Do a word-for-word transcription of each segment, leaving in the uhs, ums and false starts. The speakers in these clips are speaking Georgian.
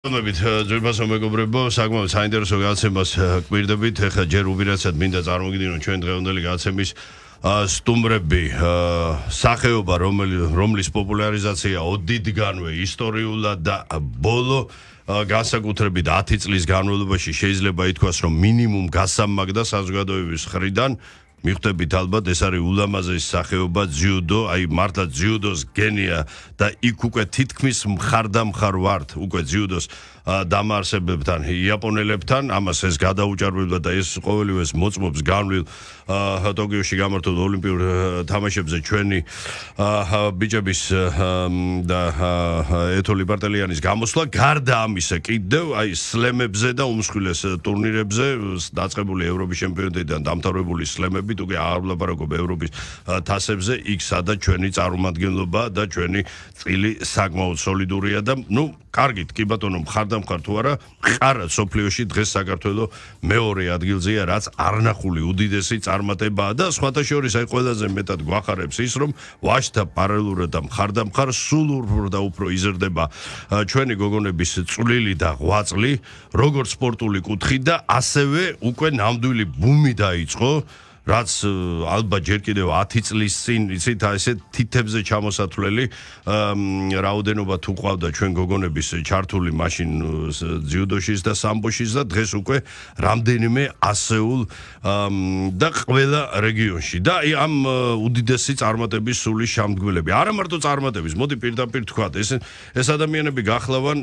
მოგებით ძვირფასო მეგობრებო, საკმაოდ საინტერესო გადაცემას გვირდებით. ეხლა ჯერ უპირატესად მინდა წარმოგიდგინოთ ჩვენ დღევანდელი გადაცემის სტუმრები, სახეობა, რომლის პოპულარიზაცია ოდითგანვე ისტორიულად და ბოლო განსაკუთრებით ათი წლის განმავლობაში შეიძლება ითქვას, რომ მინიმუმ გასამაგდა საზოგადოების მხრიდან მიხვდებით ალბათ ეს არის ულამაზესი სახეობა ძიუდო, აი მართლა ძიუდოს გენია და იქ უკვე თითქმის მხარდამხარ ვართ უკვე ძიუდოს დამაარსებლებთან, იაპონელებთან, ამას ეს გადაუჭარბებდა და ეს ყოველივე მოწმობს განვლილ ტოკიოში გამართულ ოლიმპიურ თამაშებზე ჩვენი ბიჭების და ეთოლი ბარტელიანის გამოსვლა. გარდა ამისა კიდევ აი სლემებზე და უმსხვილეს ტურნირებზე დაწყებული ევროპის ჩემპიონატიდან დამთავრებული სლემებით უკვე არ ვლაპარაკობ ევროპის თასებზე, იქ სადაც ჩვენი წარმომადგენლობა და ჩვენი წილი საკმაოდ სოლიდურია და ნუ კარგით, კი ბატონო, მხარდამხარ თუ არა, მყარად სოფლიოში დღეს საქართველო მეორე ადგილზეა, რაც არნახული უდიდესი წარმატებაა და სხვათა შორის აი ყველაზე მეტად გვახარებს ის, რომ ვაჟთა პარალელურად და მხარდამხარ სულ უფრო და უფრო იზრდება ჩვენი გოგონების წვლილი და ღვაწლი, როგორც სპორტული კუთხით და ასევე უკვე ნამდვილი ბუმი დაიწყო, რაც ალბათ ჯერ კიდევ ათი წლის წინ იცით ესე თითებზე ჩამოსათვლელი რაოდენობა თუ ყავდა ჩვენ გოგონების ჩართული მაშინ ძიუდოშიც და სამბოშიც და დღეს უკვე რამდენიმე ასეულ და ყველა რეგიონში და ამ უდიდესი წარმატების სული შემდგმელები. არა მარტო წარმატების, მოდი პირდაპირ თქვათ, ეს ეს ადამიანები გახლავან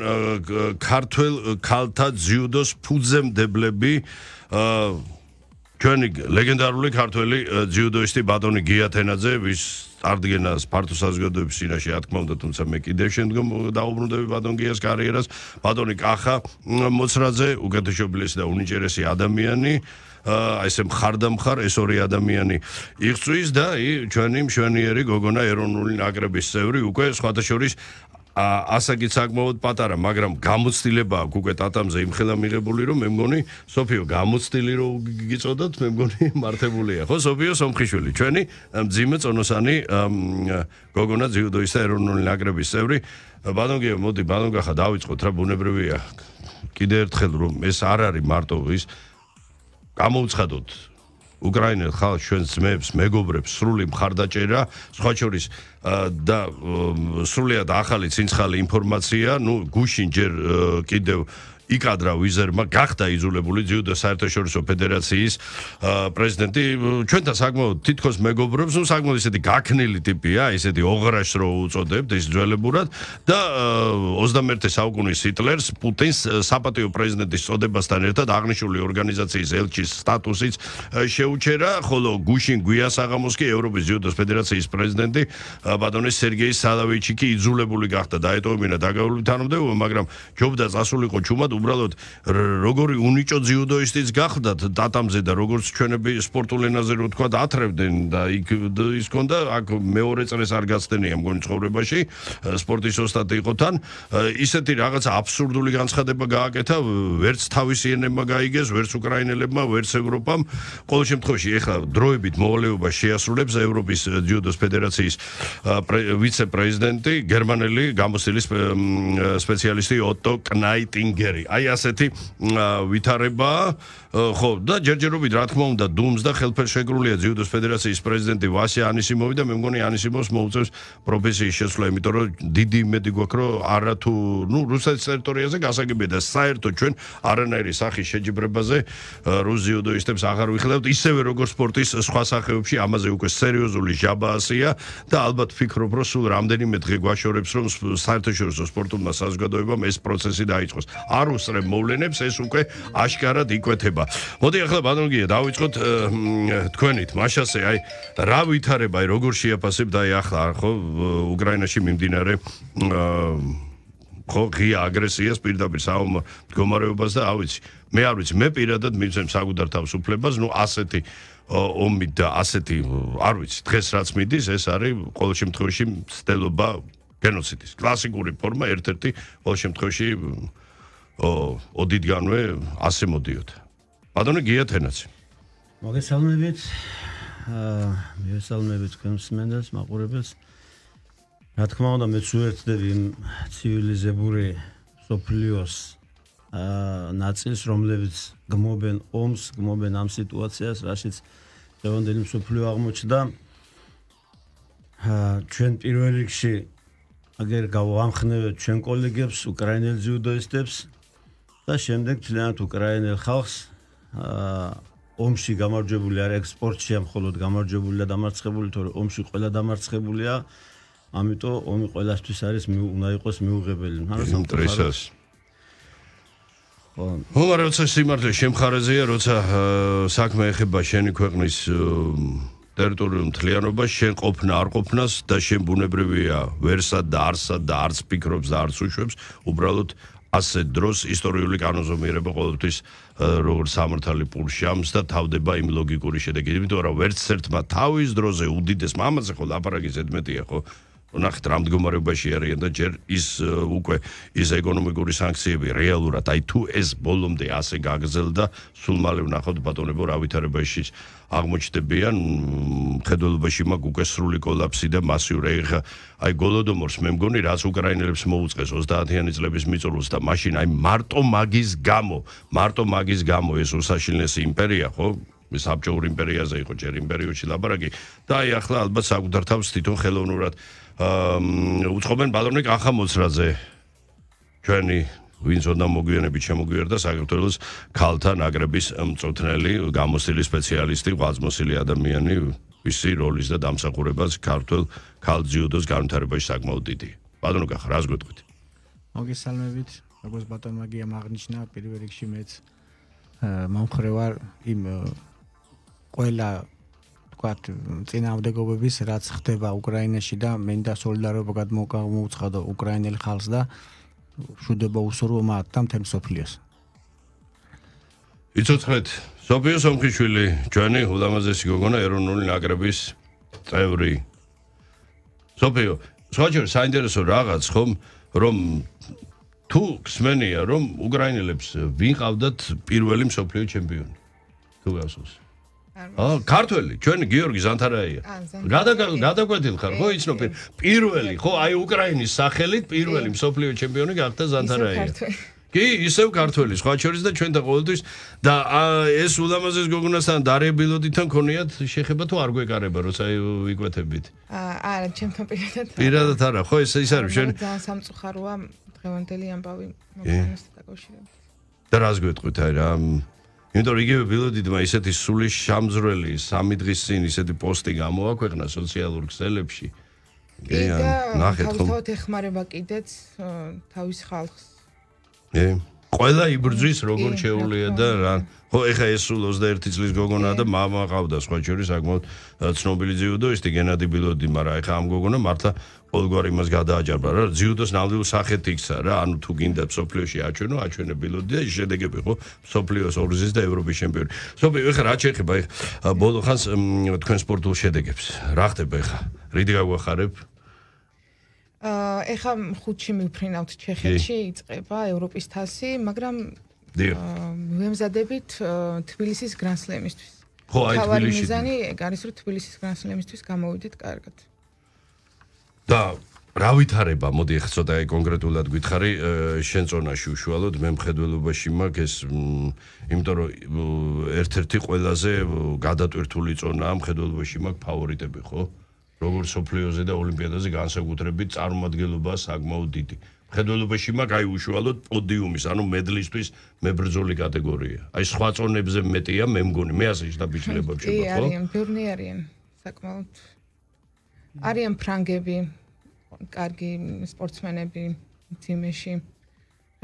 ქართველ ქალთა ძიუდოს ფუძემდებლები, ჩვენი ლეგენდარული ქართველი ძიუდოისტი ბატონი გია თენაძე, ვის წარდგენას ფართო საზოგადოების წინაშე რა თქმა უნდა, თუმცა მე კიდევ შემდგომ დაუბრუნდები ბატონ გიას კარიერას, ბატონი კახა მოცრაძე, უკეთესობილესი და უნიჭერესი ადამიანი, აი ესე მხარდამხარ ეს ორი ადამიანი იღწვის და ჩვენი მშვენიერი გოგონა ეროვნული ნაკრების წევრი, უკვე სხვათა შორის ასაკით საკმაოდ პატარა, მაგრამ გამოცდილება აქვს უკვე ტატამზე იმხელა მიღებული, რომ მე მგონი სოფიო გამოცდილი რო გიწოდოთ, მე მგონი მართებულია, ხო სოფიო სომხიშვილი, ჩვენი მძიმე წონოსანი გოგონა ძიუდოის და ეროვნული ნაკრების წევრი. ბატონ გიო, მოდი ბატონ გახა დავიწყოთ რა, ბუნებრივია კიდე ერთხელ რომ ეს არ არის მარტო ის გამოვცხადოთ უკრაინელ ხალხს, ჩვენს ძმებს, მეგობრებს, სრული მხარდაჭერა, სხვა შორის და სრულიად ახალი ცინცხალი ინფორმაცია, ნუ გუშინ ჯერ კიდევ იკადრა ვიზერმა გახდა იძულებული ძიუდო საერთაშორისო ფედერაციის პრეზიდენტი ჩვენთან საკმაოდ თითქოს მეგობრობს, ნუ საკმაოდ ისეთი გაქნილი ტიპია, ისეთი ოღრაშს რო უწოდებთ ის ძველებურად და ოცდამეერთე საუკუნის ჰიტლერს პუტინს საპატიო პრეზიდენტის წოდებასთან ერთად აღნიშნული ორგანიზაციის ელჩის სტატუსიც შეუჩერა, ხოლო გუშინ გვიას აღამოს კი ევროპის ძიუდოს ფედერაციის პრეზიდენტი ბატონი სერგეი სალავიჩი კი იძულებული გახდა დაეტოვებინა დაგავებული თანამდებობა, მაგრამ ჯობდა წასულიყო ჩუმად უბრალოდ როგორი უნიჭო ძიუდოისტიც გახდათ ტატამზე და როგორც ჩვენები სპორტულ ენაზე რო თქვა ათრევდნენ და იქ ის ქონდა აქ მეორე წრეს არ გაცდენია მგონი ცხოვრებაში სპორტის ოსტატი იყო თან ისეთი რაღაცა აბსურდული განცხადება გააკეთა, ვერც თავისიანებმა გაიგეს, ვერც უკრაინელებმა, ვერც ევროპამ. ყოველ შემთხვევაში ეხლა დროებით მოვალეობა შეასრულებს ევროპის ძიუდოს ფედერაციის ვიცე-პრეზიდენტი, გერმანელი გამოცდილი სპეციალისტი ოტო კნაიტინგერი. აი ასეთი ვითარება, ხო, და ჯერჯერობით რა თქმა უნდა დუმს და ხელფერშეკრულია ძიუდოს ფედერაციის პრეზიდენტი ვასია ანისიმოვი და მე მგონი ანისიმოვს მოუწევს პროფესიის შეცვლა, იმიტომ რომ დიდი იმედი გვაქვს, რომ არა თუ ნუ რუსეთის ტერიტორიაზე გასაგებია და საერთოდ ჩვენ არანაირი სახის შეჯიბრებაზე რუს ძიუდოისტებს აღარ ვიხილავთ, ისევე როგორც სპორტის სხვა სახეებში ამაზე უკვე სერიოზული ჟაბაასია და ალბათ ვფიქრობ, რომ სულ რამდენიმე დღე გვაშორებს, რომ საერთაშორისო სპორტულმა საზოგადოებამ ეს პროცესი დაიწყოს. არ უსწრებ მოვლენებს, ეს უკვე აშკარად იკვეთება. მოდი ახლა ბატონ გია დავიწყოთ თქვენით, მაშასე აი რა ვითარება, აი როგორ შეაფასებთ აი ახლა ხო უკრაინაში მიმდინარე ხო ღია აგრესიას, პირდაპირ საომარ მდგომარეობას და ავიცი მე არ ვიცი, მე პირადად მივცემ საკუთარ თავისუფლებას, ნუ ასეთი ომი და ასეთი არ ვიცი, დღეს რაც მიდის, ეს არის ყოველ შემთხვევაში მცდელობა გენოციდის კლასიკური ფორმა, ერთ-ერთი ყოველ შემთხვევაში ოდითგანვე ასე მოდიოდა. ბატონო გია თენაძე. მოგესალმებით. მოგესალმებით თქვენს მენდას, მაყურებელს. რა თქმა უნდა, მეც უერთდები იმ ცივილიზებული სოფლიოს ნაწილს, რომლებიც გმობენ ომს, გმობენ ამ სიტუაციას, რაშიც დღევანდელი მსოფლიო აღმოჩნდა. ჩვენ პირველ რიგში აგერ გავამხნევთ ჩვენ კოლეგებს, უკრაინელ ძიუდოისტებს და შემდეგ მთლიანად უკრაინელ ხალხს ომში გამარჯვებული არ აქვს, სპორტში ამ მხოლოდ გამარჯვებული და დამარცხებული, თორე ომში ყველა დამარცხებულია. ამიტომ ომი ყველასთვის არის უნდა იყოს მიუღებელი. ინტერესას. ხო, მაგრამ როცა სიმართლე შემხარეზეა, როცა საქმე ეხება შენი ქვეყნის ტერიტორიულ მთლიანობას, შენ ყოფნა არ ყოფნას და შენ ბუნებრივია ვერსად და არსად და არც ფიქრობს და არც უშვებს, უბრალოდ ასეთ დროს ისტორიული კანონზომიერება ყოველთვის როგორც სამართალი პურშამს და თავდება იმ ლოგიკური შედეგით, იმიტომ რომ ვერც ერთმა თავის დროზე უდიდეს მამაზე ხო ლაპარაკი ზედმეტია ხო ნახეთ რა მდგომარეობაში არიან და ჯერ ის უკვე ის ეკონომიკური სანქციები რეალურად აი თუ ეს ბოლომდე ასე გაგრძელდა სულ მალე ვნახოთ ბატონებო რა ვითარებაში აღმოჩნდებიან ხედველობაში მაგ უკვე სრული კოლაფსი და მასიური ეხა აი გოლოდომორს მე მგონი რაც უკრაინელებს მოუწყეს ოცდაათიანი წლების მიწურულს და მაშინ აი მარტო მაგის გამო მარტო მაგის გამო ეს უსაშილნესი იმპერია ხო საბჭოური იმპერიაზე იყო ჯერ იმ პერიოდში ლაბარაკი და აი ახლა ალბათ საკუთარ თავს თვითონ ხელოვნურად უცხობენ ბატონი კახამოცრაძე ჩვენი ვინც უნდა მოგვიანებით შემოგვიერთდა საქართველოს ქალთა ნაკრების მწვრთნელი გამოცდილი სპეციალისტი ღვაწლმოსილი ადამიანი ვისი როლის და დამსახურებას ქართულ ქალ ძიუდოს განვითარებაში საკმაოდ დიდი ბატონო კახა რას გვეტყვით მოგესალმებით როგორც ბატონმა გიამ აღნიშნა პირველ რიგში მეც მომხრე ვარ იმ ყველა ვთქვათ წინააღმდეგობების რაც ხდება უკრაინაში და მე და სოლიდარობა გადმოუცხადო უკრაინელ ხალხს და მშვიდობა უსურვო მათ და მთელ მსოფლიოს. იცოცხლეთ სოფიო სომხიშვილი ჩვენი ულამაზესი გოგონა ეროვნული ნაკრების წევრი. სოფიო, სხვაჯერ საინტერესო რაღაც ხომ რომ თუ გსმენია რომ უკრაინელებს ვიყავდათ პირველი მსოფლიო ჩემპიონი. თუ გასულს აა ქართველი ჩვენი გიორგი ზანთარაია გადაგვედილ ხარ ხო იცნობ პირველი ხო აი უკრაინის სახელით პირველი მსოფლიო ჩემპიონი გახდა ზანთარაია კი ისევ ქართველი სხვა შორის და ჩვენ და ყოველთვის და ეს ულამაზეს გოგონასთან დარებილოდიდან ქონიათ შეხება თუ არ გვეკარება როცა ვიკვეთებით არა ჩემთან პირადად პირადად არა ხო ეს ის არის ჩვენ ძალიან სამწუხაროა დღევანდელი ამბავი მომხდართან დაკავშირებით და რას გვეტყვით აი რა იმიტომ რომ იგივე ბილოდიდმა ისეთი სული შამძვრელი სამი დღის წინ ისეთი პოსტი გამოაქვეყნა სოციალურ ქსელებში. და ნახეთ ხომ თავად ეხმარება კიდეც თავის ხალხს. ე ყველა იბრძვის როგორ შეუულია და რა ხო ეხა ეს სულ ოცდაერთი წლის გოგონაა და მამა ყავდა სხვა შორის საკმაოდ ცნობილი ძიუდოისტი გენადი ბილოდი მაგრამ ეხა ამ გოგონა მართლა ყოველგვარ იმას გადააჯარბა რა ძიუდოს ნამდვილ სახეთ იქცა რა ანუ თუ გინდა სოფლიოში აჩვენო აჩვენე ბილოდი და შედეგები ხო სოფლიოს ორგზის და ევროპის ჩემპიონი სოფიო ეხა რა შეეხება ეხა ბოლო ხანს თქვენ სპორტულ შედეგებს რა ხდება ეხა რიდი გაგვახარებ ეხა ხუთში მივფრინავთ ჩეხეთში იწყება ევროპის თასი მაგრამ ვემზადებით თბილისის გრანსლემისთვის ხო აი თბილისში მიზანი არის რომ თბილისის გრანსლემისთვის გამოვიდეთ კარგად და რა ვითარება მოდი ახლა ცოტა კონკრეტულად გითხარი შენ ზონაში უშუალოდ მე მხედველობაში მაქვს ეს იმიტომ რომ ერთ-ერთი ყველაზე გადატვირთული ზონაა მხედველობაში მაქვს ფავორიტები ხო როგორც სოფლიოზე და ოლიმპიადაზე განსაკუთრებით წარმომადგენლობა საკმაოდ დიდი. მხედველობაში მაქვს აი უშუალოდ პოდიუმის, ანუ მედლისთვის მებრძოლი კატეგორია. აი სხვა წონებზე მეტია, მე მგონი, მე ასე შედაბიჭდება ხო? კი, არიან, ბევრი არიან, საკმაოდ. არიან ფრანგები, კარგი სპორტსმენები თიმეში.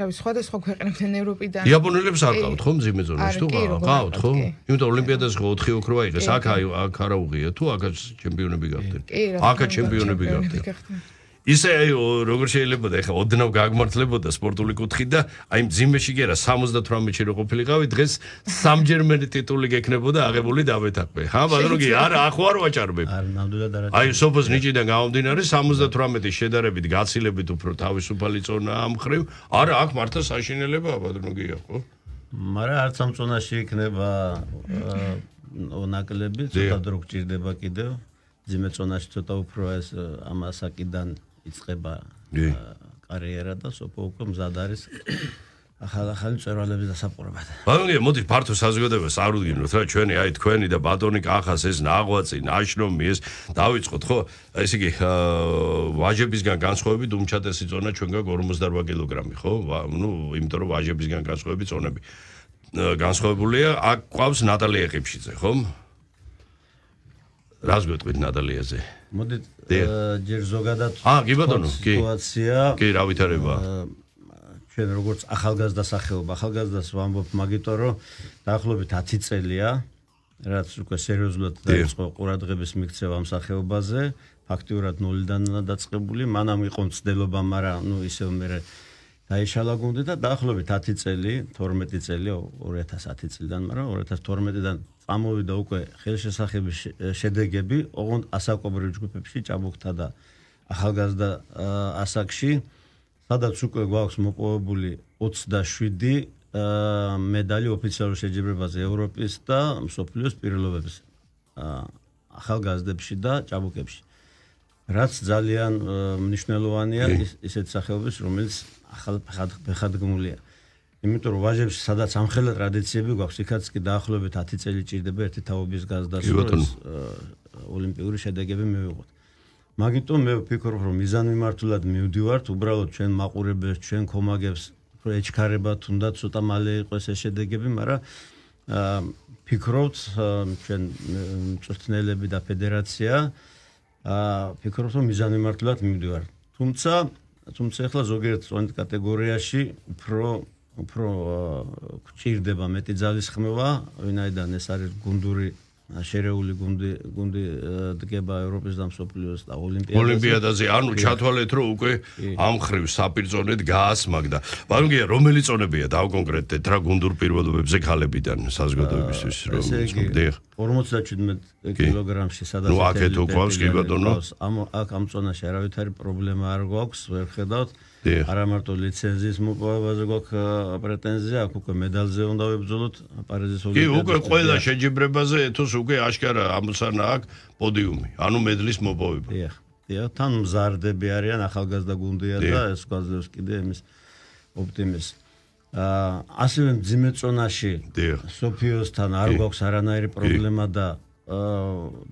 რავი, სხვადასხვა ქვეყნებიდან ევროპიდან. იაპონელებს არ ყავთ ხო მძიმე ზონაში თუ ყავთ ხო? იმიტომ ოლიმპიადაზე ხო ოთხი ოქრო აიღეს, აქ აქ არა უღია თუ აქაც ჩემპიონები გახდნენ. აქაც ჩემპიონები გახდნენ. ისე აი როგორ შეიძლება და ეხა ოდნავ გაგმართლებოდა სპორტული კუთხით და აი მძიმეში კი არა სამოცდათვრამეტში რო ყოფილიყავი დღეს სამჯერმენი ტიტული გექნებოდა აღებული დავეთაქვე. ხა მაგრამ კი არა ახო არ ვაჭარბებ. არ ნამდვილად არა. აი სოფოს ნიჭიდან გამომდინარე სამოცდათვრამეტის შედარებით გაცილებით უფრო თავისუფალი ზონა ამ ხრივ. არა აქ მართლა საშინელებაა ბატონო გია ხო? მაგრამ არც ამ ზონაში იქნება ნაკლები, ცოტა დრო გჭირდება კიდევ. მძიმე ზონაში ცოტა უფრო ეს ამასაკიდან იწყება კარიერა და სოფო უკვე მზად არის ახალ-ახალი მწერლების დასაპყრობად. ბატონო, მოდი ფართო საზოგადოებას აღუდგინოთ რა ჩვენი აი თქვენი და ბატონი კახას ეს ნაღვაწი, ნაშრომი ეს დავიწყოთ ხო? ესე იგი ვაჟებისგან განსხვავებით უმჩატესი წონა ჩვენგან ორმოცდაორ კილოგრამი ხო? ნუ იმიტომ რომ ვაჟებისგან განსხვავებით წონები განსხვავებულია. აქ ყავს ნატალია ყიფშიძე ხო? რას გვეტყვით ნატალიაზე? მოდით ჯერ ზოგადად აა კი ბატონო, კი. სიტუაცია კი, რა ვითარება? ჩვენ როგორც ახალგაზრდა სახეობა, ახალგაზრდას ვამბობ მაგიტო რომ დაახლოებით ათი წელია, რაც უკვე სერიოზულად დაიწყო ყურადღების მიქცევა ამ სახეობაზე, ფაქტიურად ნულიდან დაწყებული, მანამ იყო მცდელობა, მაგრამ ნუ ისევ მე დაიშალა გუნდი და დაახლოებით ათი წელი, თორმეტი წელი, ორი ათას ათი წლიდან, მაგრამ ორი ათას თორმეტიდან წამოვიდა უკვე ხელშესახების შედეგები, ოღონდ ასაკობრივ ჯგუფებში, ჭაბუკთა და ახალგაზრდა ასაკში, სადაც უკვე გვაქვს მოპოვებული ოცდაშვიდი მედალი ოფიციალურ შეჯიბრებაზე ევროპის და მსოფლიოს პირობების ახალგაზრდებში და ჭაბუკებში. რაც ძალიან მნიშვნელოვანია ისეთ სახეობის, რომელიც ახალ ფეხადგმულია. იმიტომ რომ ვაჟებში სადაც ამხელა ტრადიციები გვაქვს, იქაც კი დაახლოებით ათი წელი ჭირდება ერთი თაობის გაზრდას, ოლიმპიური შედეგები მივიღოთ. მაგიტომ მე ვფიქრობ, რომ მიზანმიმართულად მივდივართ, უბრალოდ ჩვენ მაყურებელს, ჩვენ კომაგებს უფრო ეჩქარება, თუნდაც ცოტა მალე იყოს ეს შედეგები, მაგრამ ფიქრობთ ჩვენ მწვრთნელები და ფედერაცია ფიქრობთ, რომ მიზანმიმართულად მივდივართ. თუმცა, თუმცა ახლა ზოგიერთ წონით კატეგორიაში უფრო უფრო გჭირდება მეტი ძალისხმევა, ვინაიდან ეს არის გუნდური შერეული გუნდი გუნდი დგება ევროპის და მსოფლიოს და ოლიმპიადაზე. ოლიმპიადაზე, ანუ ჩათვალეთ, რომ უკვე ამ ხრივ საპირწონედ გაასმაგდა. ბატონო, რომელი წონებია დავკონკრეტეთ რა გუნდურ პირობებზე ქალებიდან საზოგადოებისთვის რომ მოდიხ? ორმოცდაჩვიდმეტ კილოგრამში სადაც ნუ აქეთ უყვავს კი ბატონო. ამ აქ ამ წონაში არავითარი პრობლემა არ გვაქვს, ვერ ხედავთ. არა მარტო ლიცენზიის მოპოვებაზე გვაქვს პრეტენზია, აქ უკვე მედალზე უნდა ვებრძოლოთ პარიზის ოლიმპიადაში. კი, უკვე ყველა შეჯიბრებაზე ეთოს უკვე აშკარა ამოცანა აქვს პოდიუმი, ანუ მედლის მოპოვება. დიახ, დიახ, თან მზარდები არიან, ახალგაზრდა გუნდია და ეს გვაძლევს კიდე იმის ოპტიმიზმს. აა ასევე მძიმე წონაში სოფიოსთან არ გვაქვს არანაირი პრობლემა და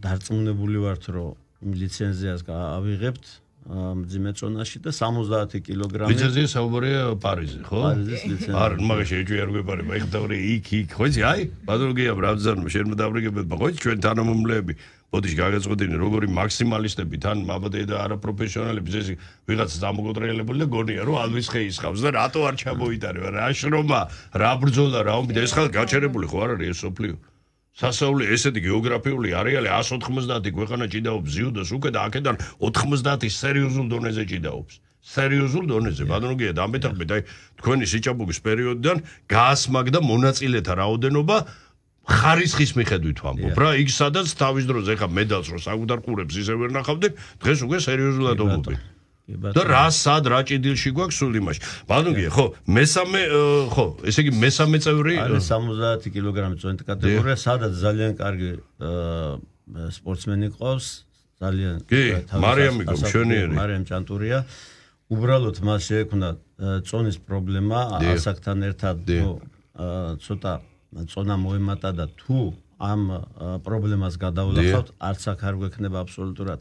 დარწმუნებული ვართ, რომ ლიცენზიას ავიღებთ. მძიმე წონაში და სამოცდაათი კილოგრამი. ლიცენზია საუბარია პარიზი, ხო? პარიზის ლიცენზია. არ, მაგაში ეჭვი არ გვეპარება, ეხლა დავრი იქ იქ, ხო იცი, აი, ბატონგია ბრაბძანო, შენ დავრიგებებ, ხო იცი, ჩვენ თანამომლეები, ბოდიში გაგეწყვეტინე, როგორი მაქსიმალისტები, თან მაბადე და არაპროფესიონალები, ეს ვიღაც დამოკონტროლებული და გონია, რომ ალვის ხეის ხავს და რატო არ ჩამოიტარება, რა შრომა, რა ბრძოლა, რა ომი და ეს ხალხი გაჩერებული ხო არ არის ეს სოფლიო? სასაული ესეთი გეოგრაფიული არეალი εκατს ოთხმოცდაათი ქვეყანა ჭიდაობს ზიუდოს უკვე და აქედან ოთხმოცდაათი სერიოზულ დონეზე ჭიდაობს. სერიოზულ დონეზე. ბატონო, დამეთანხმეთ, აი თქვენი სიჭაბუკის პერიოდიდან გაასმაგდა მონაწილეთა რაოდენობა ხარისხის მიხედვით ვამბობ რა. იქ სადაც თავის დროზე ეხა მედალს რო საკუთარ ყურებს ისე ვერ ნახავდნენ, დღეს უკვე სერიოზულად ობობენ. და რა სად რა ჭიდილში გვაქვს სულ იმაში. ბატონო, ხო, მესამე ხო, ესე იგი მესამე წევრი არის სამოცდაათი კილოგრამი წონით კატეგორია, სადაც ძალიან კარგი სპორტსმენი ყავს, ძალიან მარიამი გომშვენიერი. მარიამ ჭანტურია. უბრალოდ მას შეექმნა წონის პრობლემა, ასაკთან ერთად ცოტა წონა მოემატა და თუ ამ პრობლემას გადავლახავთ, არც აქ არ გვექნება აბსოლუტურად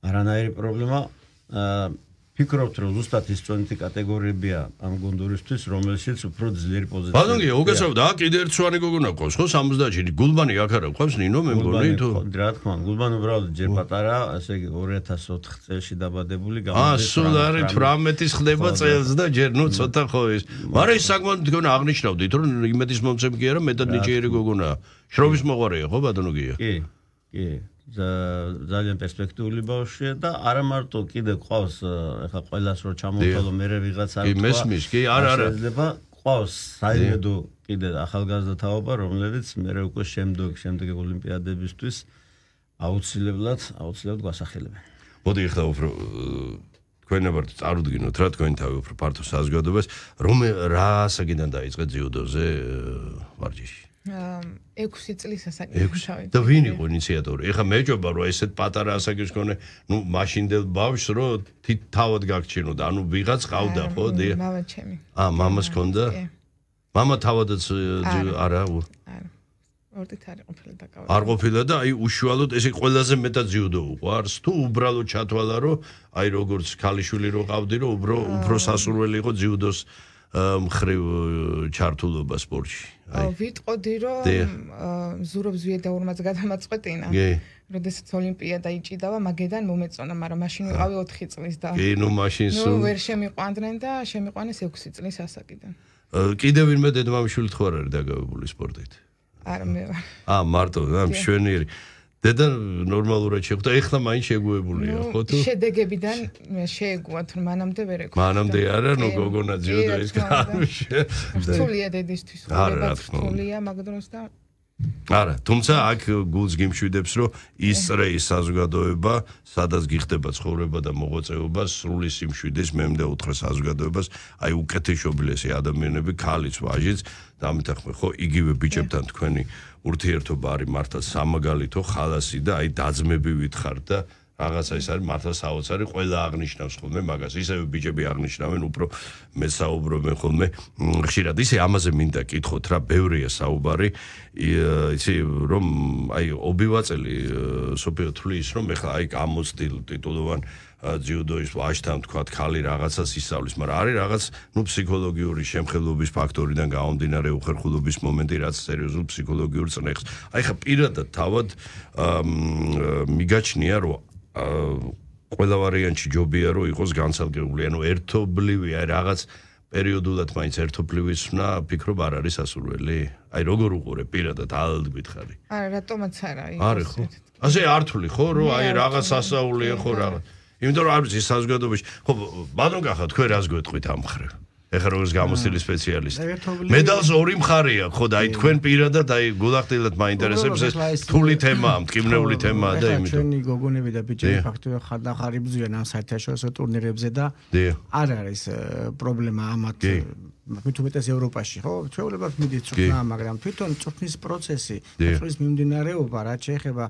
არანაირი პრობლემა. ფიქრობთ, რომ ზუსტად ის წონითი კატეგორიებია ამ გუნდურისთვის, რომელშიც უფრო ძლიერი პოზიცია. ბატონო, უგეცრავდა, აქ კიდე ერთ სვანი გოგონა ყავს, ხო, სამოცდაათი. გულბანი აქ არა ყავს, ნინო მე მგონი თუ რა თქმა უნდა, გულბანი უბრალოდ ჯერ პატარა, ასე იგი ორი ათას ოთხ წელში დაბადებული გამოდის. აა, სულ არის თვრამეტის ხდება წელს და ჯერ ნუ ცოტა ხო ის. მაგრამ ის საკმაოდ მგონი აღნიშნავდით, რომ იმედის მომცემ კი არა, მეტად ნიჭიერი გოგონაა. შრომის მოყარეა, ხო, ბატონო გია? კი, კი. ძალიან პერსპექტიული ბავშვია და არა მარტო კიდე ყავს ეხლა ყველას რო ჩამოვთვალო მერე ვიღაც არ თქვა. კი, მესმის, კი, არა, არა. შეიძლება ყავს საიმედო კიდე ახალგაზრდა თაობა, რომელიც მერე უკვე შემდგ შემდეგი ოლიმპიადებისთვის აუცილებლად, აუცილებლად გვასახელებენ. მოდი ეხლა უფრო თქვენებართ წარუდგინოთ რა თქვენი თავი უფრო ფართო საზოგადოებას, რომ რა ასაკიდან დაიწყეთ ძიუდოზე ვარჯიში? ექვსი წლის ასაკიდან. და ვინ იყო ინიციატორი? ეხლა მეჯობა რომ ესეთ პატარა ასაკის მქონე, ნუ მაშინდელ ბავშვს რომ თავად გაგჩინოდა, ანუ ვიღაც ყავდა ხო? მამა ჩემი. აა, მამას ჰქონდა? მამა თავადაც არა? არა. ორდით არ ყოფილა დაკავებული. არ ყოფილა და აი უშუალოდ ესე ყველაზე მეტად ძიუდო უყვარს თუ უბრალოდ ჩათვალა რომ აი როგორც ქალიშვილი რო ყავდი რომ უფრო უფრო სასურველი იყო ძიუდოს მხრივ ჩართულობა სპორტში. აი ვიტყოდი რომ ზურობს ვიედაურმაც გადამაწყვეტინა. როდესაც ოლიმპიადა იჭიდავა მაგედან მომეწონა, მაგრამ მაშინ ვიყავი ოთხი წლის და კი, ნუ მაშინ სულ ნუ ვერ შემიყვანდნენ და შემიყვანეს ექვსი წლის ასაკიდან. კიდევ ვინმე დედმამიშვილი თუ არ არის დაგავებული სპორტით? არა მე ვარ. აა მარტო, ამ შვენიერი. დედა ნორმალურად შეხვდა, ეხლა მაინც შეგუებულია, ხო თუ? შედეგებიდან შეეგუათ, რომ მანამდე ვერ ეგუათ. მანამდე არა, ნუ გოგონა ძიუდო ის გამიშე. რთულია დედისთვის, ხდება რთულია მაგ დროს და არა, თუმცა აქ გულს გიმშვიდებს, რომ ისწრე ის საზოგადოება, სადაც გიხდება ცხოვრება და მოღვაწეობა, სრული სიმშვიდის მემდე უთხრა საზოგადოებას, აი უკეთესობილესი ადამიანები, ქალიც, ვაჟიც, და ამიტომ ხო იგივე ბიჭებთან თქვენი ურთიერთობა არის მართლა სამაგალითო, ხალასი და აი დაძმები ვითხართ და რაღაცა ის არის მართლა საოცარი, ყველა აღნიშნავს ხოლმე მაგას, ისევე ბიჭები აღნიშნავენ, უფრო მე საუბრობენ ხოლმე ხშირად. ისე ამაზე მინდა კითხოთ რა, ბევრია საუბარი, იცი რომ აი ობივაწელი სოფიო თulis რომ ეხლა აი გამოცდილ ტიტულოვან ძიუდოის ვაჟთან თქვათ ხალი რაღაცას ისწავლის, მაგრამ არის რაღაც ნუ ფსიქოლოგიური შემხელობის ფაქტორიდან გამომდინარე უხერხულობის მომენტი, რაც სერიოზულ ფსიქოლოგიურ წნეხს. აი ხა პირადად თავად მიგაჩნია რომ ყველა ვარიანტში ჯობია რომ იყოს განცალკეული, ანუ ერთობლივი აი რაღაც პერიოდულად მაინც ერთობლივი სვნა ფიქრობ არ არის სასურველი? აი როგორ უყურე პირადად ალ გითხარი? არა, რატომაც არა იყო. არის ხო? ასე ართული ხო რომ აი რაღაც სასაულია ხო რაღაც. იმიტომ რომ არის ის საზოგადოებაში. ხო, ბატონ გახა თქვენ რას გვეტყვით ამ მხრივ? ეხლა როგორც გამოცდილი სპეციალისტი. მედალს ორი მხარე აქვს, ხო და აი თქვენ პირადად აი გულახდილად მაინტერესებს ეს რთული თემაა, მტკივნეული თემაა და იმიტომ. ჩვენი გოგონები და ბიჭები ფაქტობრივად ხარდახარი ბრძვიან ამ საერთაშორისო ტურნირებზე და არ არის პრობლემა ამათ მით უმეტეს ევროპაში, ხო? ჩვეულებრივ მიდით წვრთნა, მაგრამ თვითონ წვრთნის პროცესი, წვრთნის მიმდინარეობა, რაც შეეხება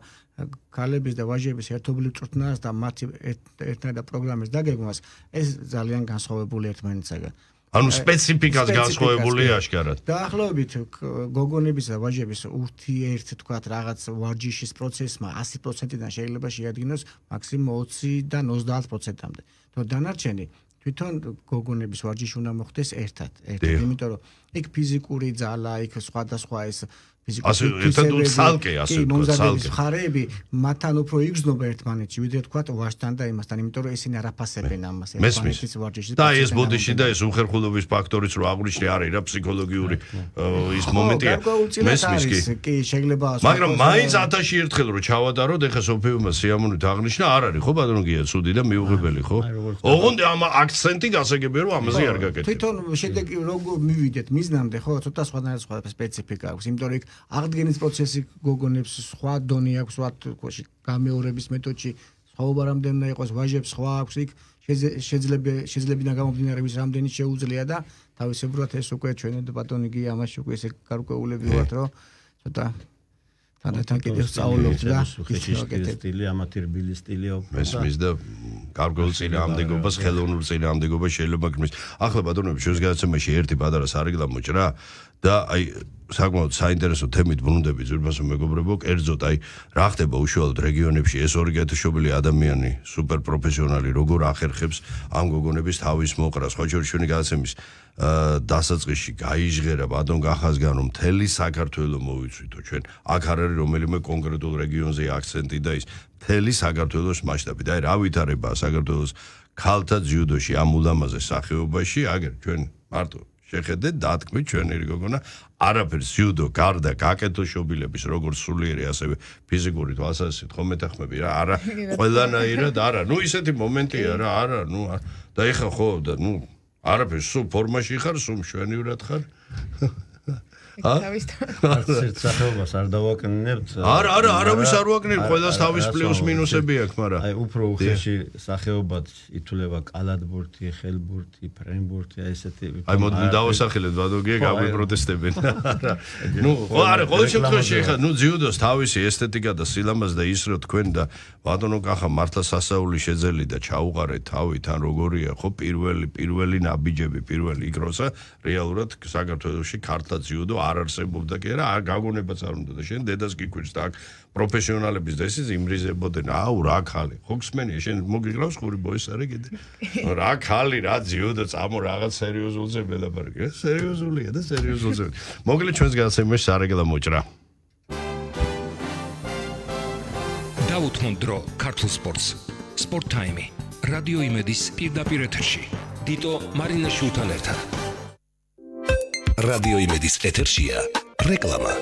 ქალების და ვაჟების ერთობლივ წვრთნას და მათი ერთნაირად პროგრამის დაგეგმვას, ეს ძალიან განსხვავებული ერთმანეთისაგან. ანუ სპეციფიკას განსხვავებული აშკარად. დაახლოებით გოგონების და ვაჟების ურთიერთ თქვათ რაღაც ვარჯიშის პროცესმა ასი პროცენტიდან შეიძლება შეადგინოს მაქსიმუმ ოციდან ოცდაათ პროცენტამდე. თუ დანარჩენი თვითონ გოგონების ვარჯიში უნდა მოხდეს ერთად, ერთად, იმიტომ რომ იქ ფიზიკური ძალა, იქ სხვადასხვა ეს ასე ერთად ცალკე ასე მომზადების მხარეები მათთან უფრო იგრძნობა ერთმანეთში, ვიდრე თქვათ ვაჟთან და იმასთან, იმიტომ რომ ისინი არ აფასებენ ამას ერთმანეთის ვარჯიშში. და ეს ბოდიში და ეს უხერხულობის ფაქტორიც რო აღვნიშნე არის რა ფსიქოლოგიური ის მომენტია. მესმის კი. კი, შეიძლება მაგრამ მაინც ათასი ერთხელ რო ჩავატაროთ, ეხა სოფიუმ სიამოვნით აღნიშნა, არ არის ხო ბატონო გია ცუდი და მიუღებელი ხო? ოღონდ ამ აქცენტი გასაგებია რომ ამაზე არ გაკეთებ. თვითონ შედეგი როგორ მივიდეთ მიზნამდე, ხო, ცოტა სხვადასხვა სხვა სპეციფიკა აქვს, იმიტომ რომ აღდგენის პროცესი გოგონებს სხვა დონე აქვს, სხვა თქოში გამეორების მეთოდში სხვაობა რამდენი უნდა იყოს, ვაჟებს სხვა აქვს, იქ შეიძლება შეიძლებიდან გამომდინარეების რამდენი შეუძლია და თავისებურად ეს უკვე ჩვენ ბატონი გია ამაში უკვე ესე გარკვეულები ვართ, რომ ცოტა თანდათან კიდევ სწავლობთ და სტილი ამათი რბილი სტილია უკვე. მესმის და გარკვეულ წინააღმდეგობას, ხელოვნურ წინააღმდეგობას შეიძლება გქმნის. ახლა ბატონები შუის გადაცემაში ერთი პატარა სარეკლამო ჭრა და აი საკმაოდ საინტერესო თემით ბრუნდები ძვირფასო მეგობრებო, კერძოდ აი რა ხდება უშუალოდ რეგიონებში ეს ორი გათიშობილი ადამიანი, სუპერ პროფესიონალი როგორ ახერხებს ამ გოგონების თავის მოყრას, ხო ჩვენი გადაცემის დასაწყისში გაიჟღერა ბატონ გახაზგან რომ მთელი საქართველო მოვიცვითო ჩვენ. აქ არ არის რომელიმე კონკრეტულ რეგიონზე აქცენტი და ის მთელი საქართველოს მასშტაბით. აი რა ვითარებაა საქართველოს ქალთა ძიუდოში ამ ულამაზე სახეობაში, აგერ ჩვენ მარტო შეხედეთ დათქმით ჩვენი გოგონა არაფერს ძიუდო გარდა გაკეთოშობილების როგორც სულიერი ასევე ფიზიკური თვალსაზრისით ხომ მეთანხმები რა არა ყველანაირად არა ნუ ისეთი მომენტია რა არა ნუ და ეხა ხო და ნუ არაფერს სულ ფორმაში ხარ სულ მშვენივრად ხარ არც სახეობას არ დავაკნინებთ. არა, არა, არავის არ ვაკნინებ, ყველას თავის პლუს მინუსები აქვს, მაგრამ აი უფრო უხეში სახეობად ითვლება კალათბურთი, ხელბურთი, ფრენბურთი, აი ესეთი. აი მოდი დავასახელეთ ბადოგია გაგვიპროტესტებენ. ნუ, არა, ყოველ შემთხვევაში ხა, ნუ ძიუდოს თავისი ესთეტიკა და სილამაზე და ის რო თქვენ და ბატონო კახა მართლა სასაული შეძელი და ჩაუყარეთ თავით ან როგორია, ხო, პირველი პირველი ნაბიჯები, პირველი იქროსა რეალურად საქართველოში ქართლა ძიუდო არ არსებობდა კი არა, გაგონებაც არ უნდა და შენ დედას გიქვირს და აქ პროფესიონალების და ისიც იმრიზებოდნენ, აუ რა ხალი, ხო გსმენია, შენ მოგიგრავს ხური ბოისარი კიდე. რა ხალი, რა ძიუდო წამო რაღაც სერიოზულზე მელაპარაკე, სერიოზულია და სერიოზულზე. მოგლე ჩვენს გადაცემაში სარეგლამო მოჭრა. დაუთმონ დრო ქართულ სპორტს. Sport Time. რადიო იმედის პირდაპირ ეთერში. დიტო მარინაშვილთან ერთად. რადიო იმედის ეთერშია რეკლამა.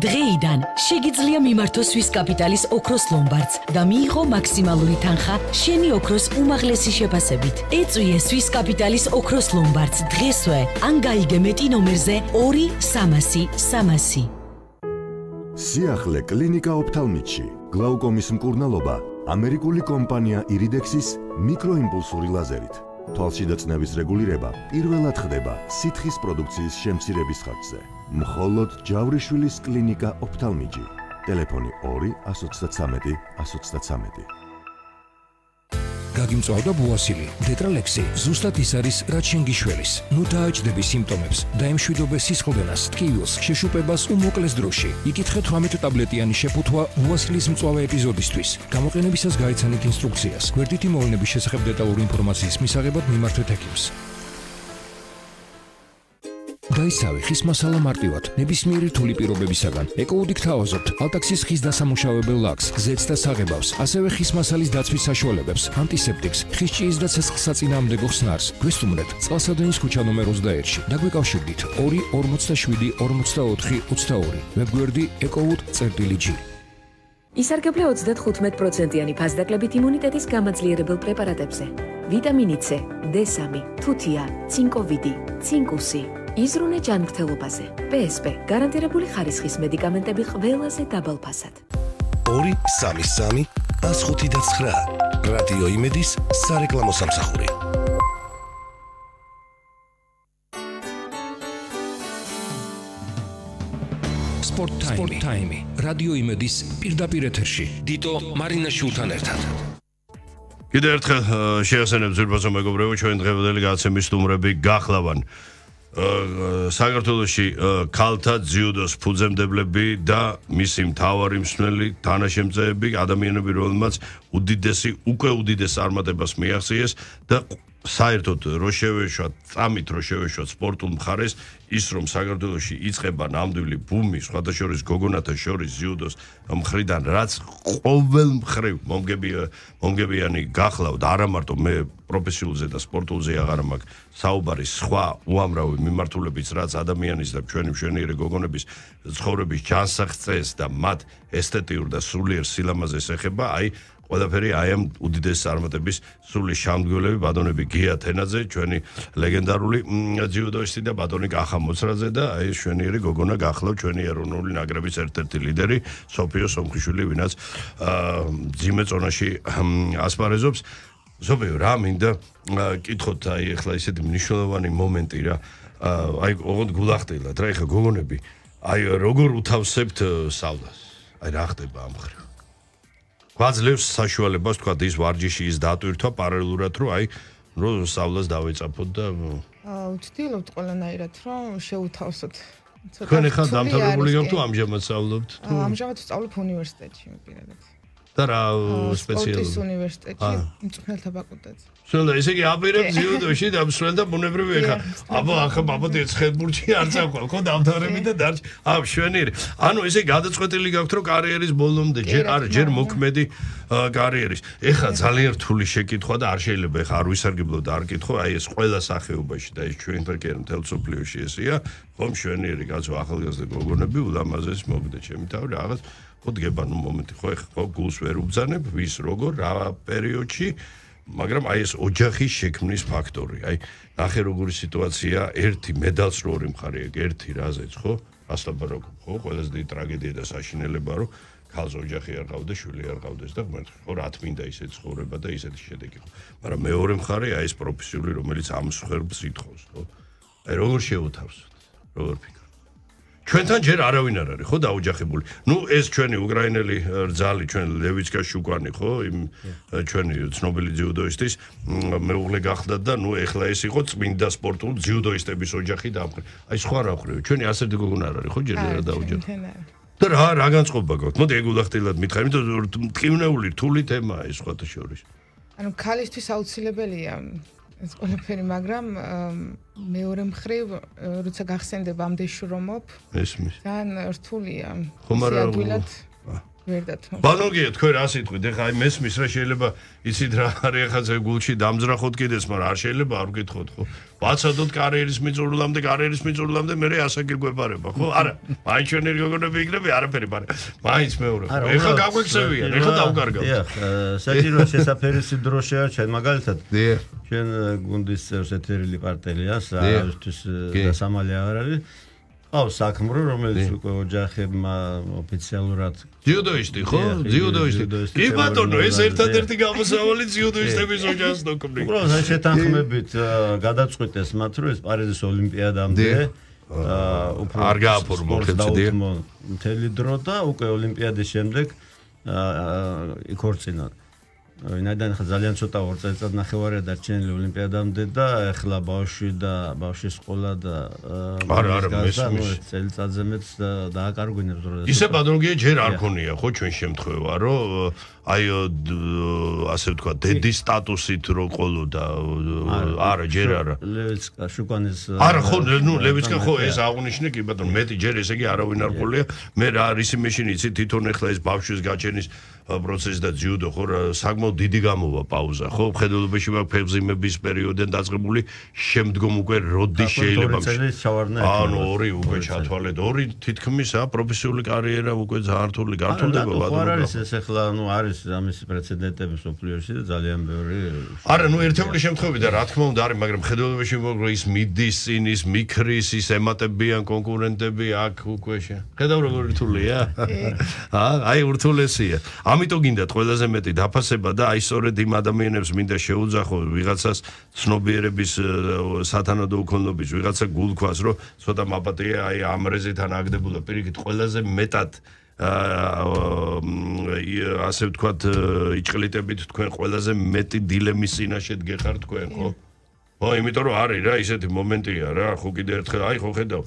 დღეიდან შეგიძლია მიმართოს სვის კაპიტალის ოქროს ლომბარდს და მიიღო მაქსიმალური თანხა შენი ოქროს უმაღლესი შეფასებით. ეწვიე სვის კაპიტალის ოქროს ლომბარდს დღესვე ან გაიგე მეტი ნომერზე ორი სამასი სამასი. სიახლე კლინიკა ოფთალმიტში. გლაუკომის მკურნალობა ამერიკული კომპანია ირიდექსის მიკროიმპულსური ლაზერით. თვალშიდა წნევის რეგულირება პირველად ხდება სითხის პროდუქციის შემცირების ხარჯზე. მხოლოდ ჯავრიშვილის კლინიკა ოფთალმიჯი. ტელეფონი ორი ასი ოცდათრამეტი ასი ოცდათრამეტი. გაგიმწვავდა ბუასილი, დეტრალექსი, ზუსტად ის არის, რაც შენ გიშველის. ნუ დააჭდები სიმპტომებს, დაემშვიდობე სისხლდენას, ტკივილს, შეშუპებას უმოკლეს დროში. იკითხე თვრამეტ ტაბლეტიანი შეფუთვა ბუასილის მწვავე ეპიზოდისთვის. გამოყენებისას გაიცანით ინსტრუქციას. გვერდითი მოვლენების შესახებ დეტალური ინფორმაციის მისაღებად მიმართეთ ექიმს. დაისავე ხის მასალა მარტივად, ნებისმიერი რთული პირობებისაგან. ეკოუდიქ თავაზობთ ალტაქსის ხის დასამუშავებელ ლაქს, გზეთს და საღებავს, ასევე ხის მასალის დაცვის საშუალებებს, ანტისეპტიკს, ხის ჭიის და ცეცხლსაწინააღმდეგო ხსნარს. გვესტუმრეთ წყალსადენის ქუჩა ნომერ ოცდაერთში. დაგვეკავშირდით ორი ორმოცდაშვიდი ორმოცდაოთხი ოცდაორი. ვებგვერდი ეკოუდ.წერტილი.ჯი. ისარგებლა ოცდათხუთმეტ პროცენტიანი ფასდაკლებით იმუნიტეტის გამაძლიერებელ პრეპარატებზე. ვიტამინი C, D სამი, თუთია, ცინკოვიდი, ცინკუსი. იზრუნე ჯანმრთელობაზე. პე ეს პე გარანტირებული ხარისხის მედიკამენტები ყველაზე დაბალ ფასად. ორი სამი სამი ას ხუთი და ცხრა. რადიო იმედის სარეკლამო სამსახური. Sport Time. რადიო იმედის პირდაპირ ეთერში. დიტო მარინაშვილთან ერთად. კიდევ ერთხელ შეასწავლებ ზურბაზო მეგობრებო, ჩვენ დღევანდელი გადაცემის სტუმრები გახლავან საქართველოში ქალთა ძიუდოს ფუძემდებლები და მისი მთავარი მსმენელი თანაშემწეები, ადამიანები, რომელმაც უდიდესი უკვე უდიდეს წარმატებას მიაღწიეს და საერთოდ რო შევეშვათ, წამით რო შევეშვათ სპორტულ მხარეს, ის რომ საქართველოში იწყება ნამდვილი ბუმი, სხვადასხვა გოგონათა შორის ძიუდოს მხრიდან, რაც ყოველ მხრივ მომგებიანი გახლავთ, არა მარტო მე პროფესიულზე და სპორტულზე აღარ მაქვს საუბარი, სხვა უამრავი მიმართულებიც, რაც ადამიანის და ჩვენი მშვენიერი გოგონების ცხოვრების ჯანსაღწეს და მათ ესთეტიურ და სულიერ სილამაზეს ეხება, აი ყველაფერი აი ამ უდიდეს წარმატების სრული შემდგომლები ბატონები გია თენაძე, ჩვენი ლეგენდარული ძიუდოისტი და ბატონი კახა მოცრაძე და აი შვენიერი გოგონა გახლავ ჩვენი ეროვნული ნაკრების ერთ-ერთი ლიდერი სოფიო სომხიშვილი, ვინაც ძიმე წონაში ასპარეზობს. ზოგიერთი რა მინდა კითხოთ, აი ახლა ისეთი მნიშვნელოვანი მომენტი რა, აი ოღონდ გულახდილად რა, ეხლა გოგონები, აი როგორ უთავსებთ სავლას? აი რა ხდება ამ ხრივ? გვაძლევს საშუალებას თქვა ის ვარჯიში ის დატვირთვა პარალელურად, რომ აი რომ სავლას დავეწაფოთ და ვცდილობთ ყველანაირად რომ შევთავსოთ. თქვენ ახლა დამთავრებული გაქვთ თუ ამჟამად სწავლობთ? ამჟამად ვსწავლობ უნივერსიტეტში პირადად. და რა სპეციალურად? სპორტის უნივერსიტეტში, მწვრთნელთა ფაკულტეტზე. შეიძლება ესე იგი აპირებ ძიუდოში და მსვლელდა ბუნებრივი ეხა. აბა ახლა ბაბოდი ცხელბურჯი არ წაყვალ, ხო დამთავრები და დარჩ. აა შვენიერი. ანუ ესე გადაწყვეტილი გაქვთ რომ კარიერის ბოლომდე ჯერ არ ჯერ მოქმედი კარიერის. ეხლა ძალიან რთული შეკითხვა და არ შეიძლება ეხლა არ ვისარგებლო და არ კითხო, აი ეს ყველა სახეობაში და ეს ჩვენ ფერკერ მთელ სოფლიოში ესეა, ხომ შვენიერი კაცო ახალგაზრდა გოგონები ულამაზეს მოგდა ჩემი თავი რაღაც ხო დგება ნუ მომენტი ხო ეხლა გულს ვერ უბძანებ ვის როგორ რა პერიოდში მაგრამ აი ეს ოჯახის შექმნის ფაქტორი, აი ნახე როგორი სიტუაცია, ერთი მედალს რო ორი მხარე აქვს, ერთი რაზეც, ხო? ასლაბარაკობ, ხო? ყველაზე დიდი ტრაგედია და საშინელება, რომ ქალს ოჯახი არ ყავდეს, შვილი არ ყავდეს და ხო რა თმინდა ისეთ ცხოვრება და ისეთი შედეგი ხო. მაგრამ მეორე მხარე აი ეს პროფესიული, რომელიც ამ სხერბს ითხოვს, ხო? აი როგორ შევუთავსოთ? როგორ ფიქრობ? ჩვენთან ჯერ არავინ არ არის, ხო, დაოჯახებული. ნუ ეს ჩვენი უკრაინელი რძალი, ჩვენ ლევიცკა შუკვანი, ხო, იმ ჩვენი ცნობილი ძიუდოისტის მეუღლე გახდა და ნუ ეხლა ეს იყო წმინდა სპორტული ძიუდოისტების ოჯახი დაამყრე. აი სხვა რა ხვრივ, ჩვენი ასეთი გოგონა არ არის, ხო, ჯერ რა დაოჯახე. და რა რა განწყობა გაქვთ? მოდი ეგულახტილად მითხარ, იმიტომ ტკივნეული რთული თემაა ეს სხვათა შორის. ანუ ქალისთვის აუცილებელია ეს ყველაფერი, მაგრამ მეორე მხრივ, როცა გახსენდება ამდენ შრომობ, ესმის. ძალიან რთულია. ხომ არა ვერ დათმო. ბანოგია თქვენ რა სიტყვით, ეხლა აი მესმის რა შეიძლება იცით რა არის ახლა ზე გულში დამძრახოთ კიდეს, მაგრამ არ შეიძლება არ ვკითხოთ, ხო? ვაცადოთ კარიერის მიწურულამდე, კარიერის მიწურულამდე მე ასაკი გვეპარება, ხო? არა, მაინც ჩვენი გოგონები იქნება, არაფერი პარე. მაინც მეორე. ეხლა გაგვექცევიან, ეხლა დავკარგავთ. დიახ, საჭირო შესაფერისი დრო შეარჩენ, მაგალითად. დიახ. ჩვენ გუნდის წევრს ეთერილი პარტელია, საერთოდ დასამალი არ არის. ყავს საქმრო, რომელიც უკვე ოჯახებმა ოფიციალურად ძიუდოისტი, ხო? ძიუდოისტი. კი ბატონო, ეს ერთადერთი გამოსავალი ძიუდოისტების ოჯახს ნოქმნი. უბრალოდ აი შეთანხმებით გადაწყვიტეს მათ, რომ ეს პარიზის ოლიმპიადამდე უფრო არ გააფორმო ხეთცდია. მთელი დრო და უკვე ოლიმპიადის შემდეგ იქორწინა. ვინაიდან ხა ძალიან ცოტა ორ წელიწად ნახევარია დარჩენილი ოლიმპიადამდე და ეხლა ბავშვი და ბავშვის სკოლა და არა არა მესმის წელიწადზე მეც დააკარგვინებს რომ ისე პათოლოგია ჯერ არ ქონია ხო ჩვენ შემთხვევა რომ აი ასე ვთქვა დედის სტატუსით რო ყოლოდა არა ჯერ არა ლევიცკა შუკვანის არა ხო ნუ ლევიცკა ხო ეს აღნიშნე კი ბატონო მეტი ჯერ ესე იგი არავინ არ ყოლია მე რა არის იმეშინ იცი თვითონ ეხლა ეს ბავშვის გაჩენის პროცესი და ძიუდო ხო საკმაოდ დიდი გამოვა პაუზა ხო მხედველობაში მაქვს ფეხმძიმების პერიოდიდან დაწყებული შემდგომ უკვე როდის შეიძლება ანუ ორი უკვე ჩათვალეთ ორი თითქმის ა პროფესიული კარიერა უკვე ძალიან რთული გართულდება ბატონო არა არის ეს ეხლა ნუ არის ამის პრეცედენტები სოფლიოში და ძალიან ბევრი არა ნუ ერთეული შემთხვევები და რა თქმა უნდა არის მაგრამ მხედველობაში მოგრო ის მიდის წინ ის მიქრის ის ემატებიან კონკურენტები აქ უკვე ხედავ როგორ რთულია ა აი რთულესია ამიტომ გინდათ ყველაზე მეტი დაფასება და აი სწორედ იმ ადამიანებს მინდა შეუძახო ვიღაცას ცნობიერების სათანადო უქონლობის ვიღაცა გულქვას რომ ცოტა მაპატია აი ამ რეზეთან აგდებოდა პირიქით ყველაზე მეტად ასე ვთქვათ იჭყლიტებით თქვენ ყველაზე მეტი დილემის წინაშე დგეხარ თქვენ ხო? ხო იმიტომ რომ არის რა ისეთი მომენტია რა ხო კიდე ერთხელ აი ხო ხედავ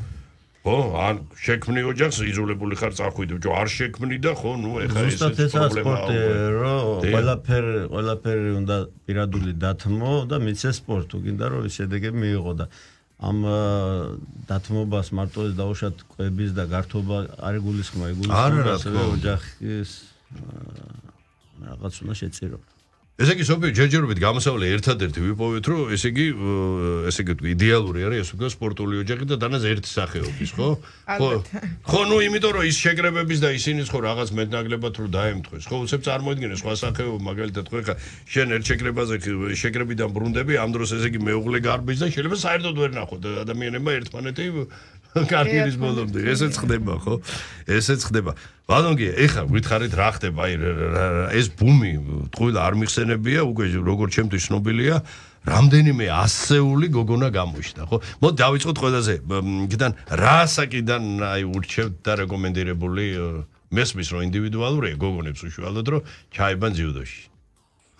ხო ან შექმნი ოჯახს იძულებული ხარ წახვიდე ჯო არ შექმნი და ხო ნუ ეხა ეს პრობლემაა რომ ყველაფერი ყველაფერი უნდა პირადული დათმო და მიცე სპორტი გინდა რომ შედეგები მიიღო და ამ დათმობას მარტო ეს დაუშვათ კვების და გართობა არ იგულისხმა იგულისხმა ასევე ოჯახის რაღაც უნდა შეწირო ესე იგი სოფიო ჯერჯერობით გამოსავლე ერთადერთი ვიპოვეთ რომ ესე იგი ესე იგი იდეალური არის ეს უკვე სპორტული ოჯახი და დანაც ერთი სახეობის ხო ხო ხო ნუ იმიტომ რომ ის შეკრებების და ისინი ხო რაღაც მეტნაკლებად რომ დაემთხვეს ხო უცებ წარმოიდგინე სხვა სახეობა მაგალითად ხო ხა შენ ერთ შეკრებაზე შეკრებიდან ბრუნდები ამ დროს ესე იგი მეუღლე გარბის და შეიძლება საერთოდ ვერ ნახოთ ადამიანებმა ერთმანეთი კარიერის ბოლომდე ესეც ხდება ხო ესეც ხდება ბატონო ეხლა გითხარით რა ხდება აი ეს ბუმი ტყუილ არ მიხსენებია უკვე როგორც ჩემთვის ცნობილია რამდენიმე ასეული გოგონა გამოჩნდა ხო მოდი დავიწყოთ ყველაზე იქიდან რა ასაკიდან აი ურჩევთ და რეკომენდირებული მესმის რომ ინდივიდუალურია გოგონებს უშუალოდ რომ ჩაებან ძიუდოში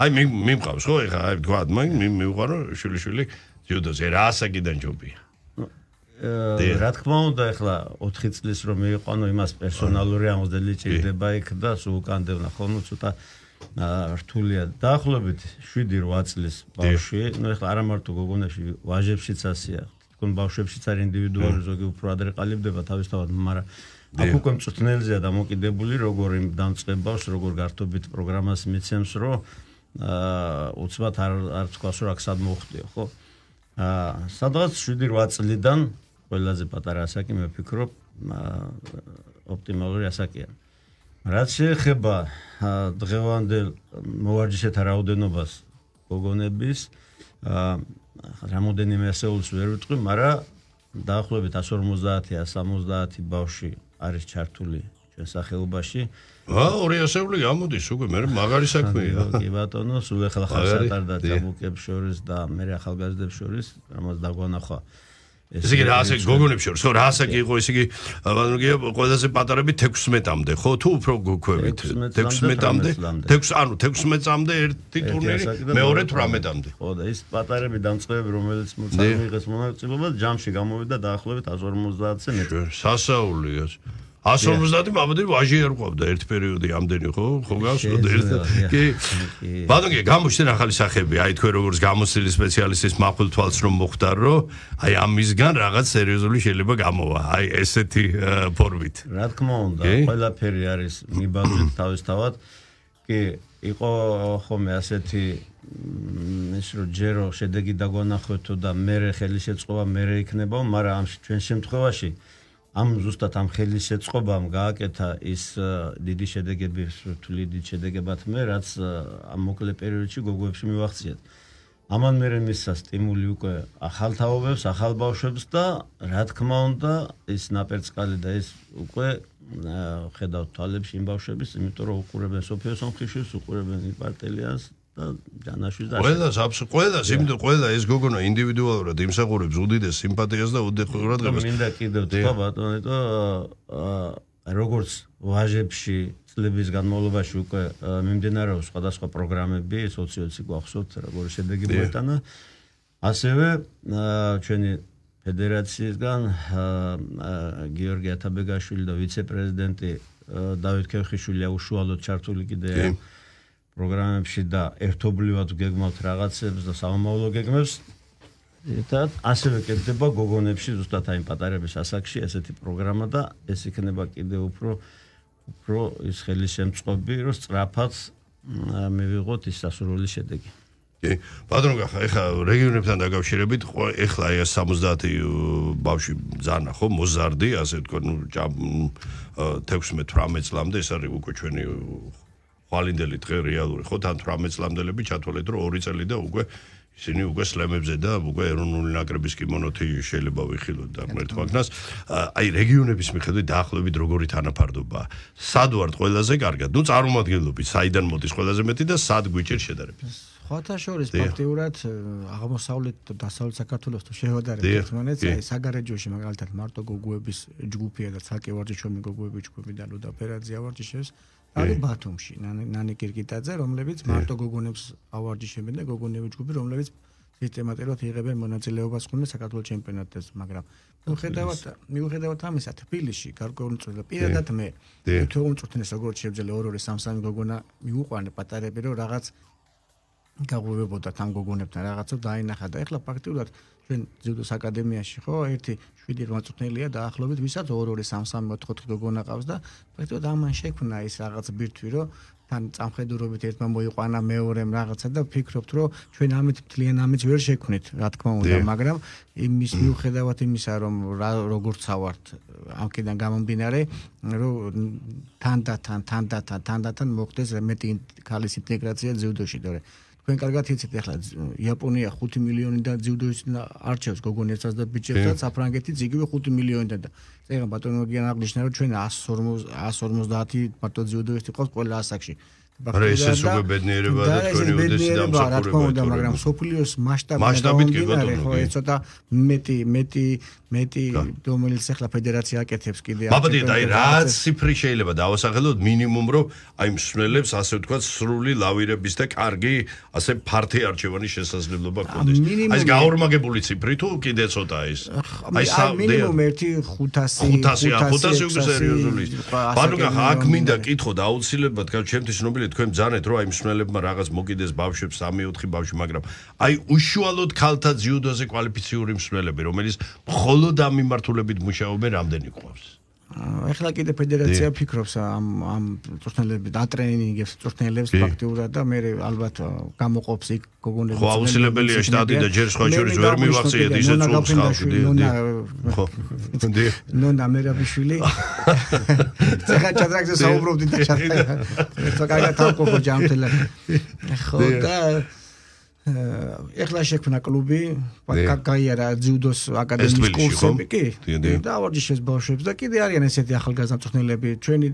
აი მიმყავს ხო ეხლა აი თქვა მივყარო შვილიშვილი ძიუდოზე რა ასაკიდან ჯობია რა თქმა უნდა ეხლა ოთხი წლის რომ მიიყვანო იმას პერსონალური ამოსდელი ჭირდება იქ და სულ უკანდევნა ხო ნუ ცოტა რთულია დაახლოებით შვიდი რვა წლის ბავშვი ნუ ეხლა არა მარტო გოგონებში ვაჟებშიც ასეა თქო ბავშვებშიც არის ინდივიდუალური ზოგი უფრო ადრე ყალიბდება თავისთავად მაგრამ აქ უკვე მწვრთნელზეა დამოკიდებული როგორ იმ დამწყებავს როგორ გართობით პროგრამას მიცემს რომ უცბად არ არ თქვას რომ აქ სად მოხდიო ხო აა სადღაც შვიდი რვა წლიდან ყველაზე პატარა ასაკი მე ვფიქრობ ოპტიმალური ასაკია. რაც შეეხება დღევანდელ მოვარჯიშეთა რაოდენობას გოგონების რამოდენიმე ასეულს ვერ ვიტყვი, მაგრამ დაახლოებით one fifty one seventy ბავშვი არის ჩართული ჩვენ სახეობაში. აა ორი ასეული გამოდის უკვე მე მაგარი საქმეა. კი ბატონო, სულ ახლა ხალხსატარდა ჭაბუკებს შორის და მე ახალგაზრდებს შორის რამაც დაგვანახვა. ესე იგი რა ასაკი გოგონებს შორის, ხო რა ასაკი იყო, ესე იგი ბატონო გია ყველაზე პატარები თექვსმეტამდე, ხო თუ უფრო გოქვებით თექვსმეტამდე, თექვს ანუ თექვსმეტამდე ერთი ტურნირი, მეორე თვრამეტამდე. ხო და ის პატარები დამწყებები, რომელიც მოწამიღეს მონაწილეობა, ჯამში გამოვიდა დაახლოებით one fifty-ზე მეტი. სასაულია. one fifty მამადი ვაჟი არ ყვავდა ერთ პერიოდი ამდენი ხო ხო გასვლა ერთ კი ბატონო გამოჩნდნენ ახალი სახეები აი თქვენ როგორც გამოცდილი სპეციალისტის მახვილ თვალს რომ მოხდარ რომ აი ამისგან რაღაც სერიოზული შეიძლება გამოვა აი ესეთი ფორმით რა თქმა უნდა ყველაფერი არის მიბალნით თავისთავად კი იყო ხომ ასეთი ის რომ ჯერო შედეგი დაგვანახოთ და მე ხელი შეწყობა მე იქნება მაგრამ ამ ჩვენ შემთხვევაში ამ ზუსტად ამ ხელისეწყობამ გააკეთა ის დიდი შედეგები, რთული დიდი შედეგებად მე, რაც ამ მოკლე პერიოდში გოგოებში მივახციეთ. ამან მერე მისცა სტიმული უკვე ახალ თაობებს, ახალ ბავშვებს და რა თქმა უნდა, ის ნაპერწკალი და ის უკვე ხედავთ თვალებში იმ ბავშვების, იმიტომ რომ უყურებენ სოფიო სამხიშვილს, უყურებენ იპარტელიანს და ჯანაშვილს და ყველას აბსოლუტურად ყველას, იმიტომ ყველა ეს გოგონა ინდივიდუალურად იმსახურებს უდიდეს სიმპათიას და უდიდეს ყურადღებას. მინდა კიდევ თქვა ბატონო, და როგორც ვაჟებში წლების განმავლობაში უკვე მიმდინარეობს სხვადასხვა პროგრამები, სოციოცი გვახსოვთ, როგორი შედეგი მოეტანა. ასევე ჩვენი ფედერაციისგან გიორგი ათაბეგაშვილი და ვიცე-პრეზიდენტი დავით ქევხიშვილი უშუალოდ ჩართული კიდეა პროგრამებში და ერთობლივად გეგმავთ რაღაცებს და სამომავლო გეგმებს. და ასევე კეთდება გოგონებში ზუსტად აი პატარების ასაკში ესეთი პროგრამა და ეს იქნება კიდევ უფრო უფრო ის ხელისემწყობი, რომ სწრაფად მივიღოთ ის სასურველი შედეგი. კი, ბატონო გახა, ეხლა რეგიონებთან დაკავშირებით, ეხლა აი სამოცდაათი ბავშვი ძანა ხო, მოზარდი, ასე ვთქვათ, ნუ თექვსმეტ თვრამეტ წლამდე ეს არის უკვე ჩვენი ხვალინდელი დღე რეალური ხო თან თვრამეტ წლამდელები ჩათვალეთ რომ ორი წელი და უკვე ისინი უკვე სლემებზე და უკვე ეროვნული ნაკრების კიმონოთი შეიძლება ვიხილოთ და მერტვაგნას აი რეგიონების მიხედვით დაახლოებით როგორი თანაფარდობა სად ვართ ყველაზე კარგად ნუ წარმომადგენლობით საიდან მოდის ყველაზე მეტი და სად გვიჭირ შედარებით ხოთა შორის ფაქტიურად აღმოსავლეთ და დასავლეთ საქართველოს თუ შევადარებთ ერთმანეთს აი საგარეჯოში მაგალითად მარტო გოგოების ჯგუფია და ცალკე ვარჯიშობი გოგოების ჯგუფი და ლუდა ფერაძე ავარჯიშებს არის ბათუმში ნანი კირკიტაძე რომლებიც მარტო გოგონებს ავარჯიშებენ და გოგონების ჯგუფი რომლებიც სისტემატურად იღებენ მონაწილეობას ხოლმე საქართველოს ჩემპიონატზე მაგრამ მიუხედავად მიუხედავად ამისა თბილისში გარკვეულწილად პირადად მე თუ უმწვრთნეს როგორც შეძლებელია ორ ორი სამ სამი გოგონა მიუყვანე პატარები რომ რაღაც გაღვივებოდა თან გოგონებთან რაღაცა დაინახა და ეხლა ფაქტიურად ჩვენ ძიუდოს აკადემიაში ხო ერთი შვიდი რვაწუთნელია დაახლოებით ვისაც ორ ორი სამ სამი ოთხ ოთხ გოგონა ყავს და ფაქტიურად ამან შექმნა ის რაღაც ბირთვი რომ თან წამხედურობით ერთმა მოიყვანა მეორემ რაღაცა და ვფიქრობთ რომ ჩვენ ამით მთლიან ამით ვერ შექმნით რა თქმა უნდა მაგრამ იმის მიუხედავად იმისა რომ როგორც ავართ ამკიდან გამომდინარე რომ თანდათან თანდათან თანდათან მოხდეს მეტი ქალის ინტეგრაცია ძიუდოში და თქვენ კარგად იცით ახლა იაპონია ხუთი მილიონი და ძიუდოის არჩევს გოგონებსაც და ბიჭებსაც საფრანგეთიც იგივე ხუთი მილიონი და წერა ბატონო გიან აღნიშნა რომ ჩვენ one fifty მარტო ძიუდოისტი ყავს ყველა ასაკში არა ეს უკვე ბედნიერება და ჩვენი უდესი დამსახურება მაგრამ სოფლიოს მასშტაბით კი ბატონო ხო ეს ცოტა მეტი მეტი მეტი რომელიც ახლა ფედერაცია აკეთებს კიდე მაბადია და აი რა ციფრი შეიძლება დავასახელოთ მინიმუმ რომ აი მსვლელებს ასე ვთქვათ სრული ლავირების და კარგი ასე ფართი არჩევანის შესაძლებლობა გქონდეს აი ეს გაორმაგებული ციფრი თუ კიდე ცოტა ის აი მინიმუმ ერთი ხუთასი ხუთასი უკვე სერიოზული ბანო გახა აქ მინდა კითხო და აუცილებლად ჩემთვის ცნობილი თქვენ ბძანეთ რომ აი მსმენელებმა რაღაც მოკიდეს ბავშვებს სამი ოთხი ბავშვი მაგრამ აი უშუალოდ ქალთა ძიუდოზე კვალიფიციური მსმენელები რომელიც მხოლოდ ამ მიმართულებით მუშაობენ რამდენი ყავს ეხლა კიდე ფედერაცია ფიქრობს ამ ამ წვრთნელებს დატრენინგებს წვრთნელებს ფაქტიურად და მე ალბათ გამოყოფს იქ გოგონებს ხო აუცილებელია შტატი და ჯერ სხვა შორის ვერ მივახციეთ ისე წულს ხალხი ხო ნონა მერაბიშვილი ცეხა ჩადრაგზე საუბრობდი და ჩატა ეს კარგად თავყოფო ჯამთელად ხო და ეხლა შექმნა კლუბი, გაიარა ძიუდოს აკადემიის კურსები კი და ავარჯიშებს ბავშვებს და კიდე არიან ესეთი ახალგაზრდა მწვრთნელები. ჩვენი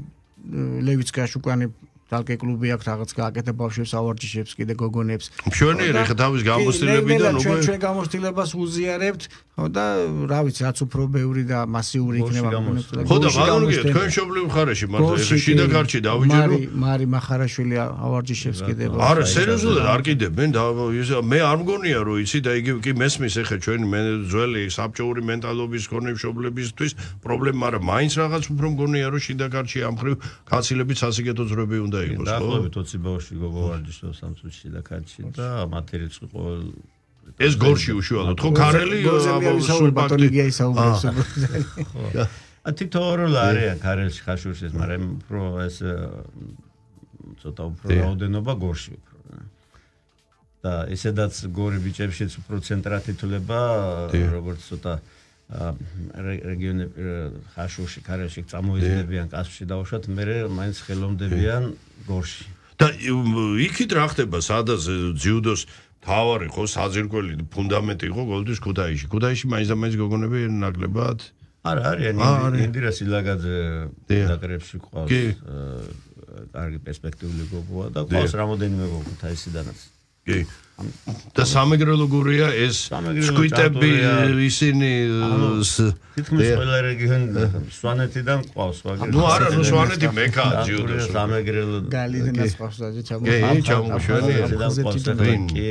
ლევიცკაში უკანი თალკე კლუბი აქვს რაღაც გააკეთა ბავშვებს ავარჯიშებს კიდე გოგონებს. მშვენიერი ხა თავის გამოცდილებიდან უკვე ჩვენ გამოცდილებას უზიარებთ და რა ვიცი რაც უფრო ბევრი და მასიური იქნება. ხო და მაგალითად თქვენ მშობლიურ ხარეში მართლა შიდა ქარჩი დავიჯერო. მარი მახარაშვილი ავარჯიშებს კიდე. არა სერიოზულად არ კიდებენ და მე არ მგონია რომ იცი და იგი კი მესმის ეხა ჩვენი ძველი საბჭოური მენტალობის ქონე მშობლებისთვის პრობლემა, მაგრამ მაინც რაღაც უფრო მგონია რომ შიდა ქარჩი ამ ხრივ კაცილებით სასიკეთო ძროები უნდა იყოს. დაახლოებით ოცი ბავშვი გოგოვარჯიშობს ამ წუთში და ქარჩი და მათი რიცხვი ყოველ ეს გორში უშუალოდ ხო ქარელი სულ ბატონიგია ისაუბრებს. ა თითოეულ არიან ქარელში ხაშურში, მაგრამ უფრო ეს ცოტა უფრო რაოდენობა გორში უფრო. და ესედაც გორი ბიჭებშიც უფრო ცენტრად ითვლება, როგორც ცოტა რეგიონები ხაშურში ქარელში წამოიზრდებიან კასპში დაუშვათ, მე მაინც ხელოვნდებიან გორში. და იქით რა ხდება სადაც ძიუდოს თავარი ხო საძირკველი ფუნდამენტი იყო გოლდის ქუთაისში. ქუთაისში მაინც და მაინც გოგონები ნაკლებად არა არიან ინდირა სილაგაძე დაკრებში ყავს კარგი პერსპექტიული გოგოა და ყავს რამოდენიმე გოგო ქუთაისიდანაც. კი და სამეგრელო გურია ეს სკვიტები ისინი თითქმის ყველა რეგიონი სვანეთიდან ყავს მაგრამ ნუ არა ნუ სვანეთი მეკა ჯიუდოს სამეგრელო გალიდანაც ყავს და ჩამოხვდა კი ჩამოშველი კი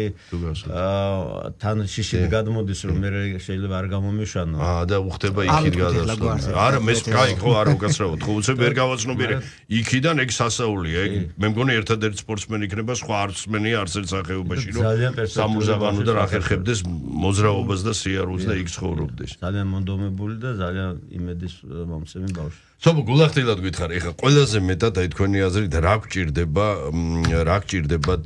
თან შიშით გადმოდის რომ მე შეიძლება არ გამომიშვანო აა და უხდება იქით გადასვლა არა მე კაი ხო არ უკაცრავად ხო უცებ ვერ გავაცნობიერე იქიდან ეგ სასაულია ეგ მე მგონი ერთადერთი სპორტსმენი იქნება სხვა არცმენი არც ერთ სახეობაში რომ სამურზაბანო და რა ხერხებდეს მოძრაობას და სიარულს და იქ ცხოვრობდეს. ძალიან მონდომებული და ძალიან იმედის მომცემი ბავშვი. სოფო გულახდილად გითხარი, ეხლა ყველაზე მეტად აი თქვენი აზრით რა გჭირდება, რა გჭირდებათ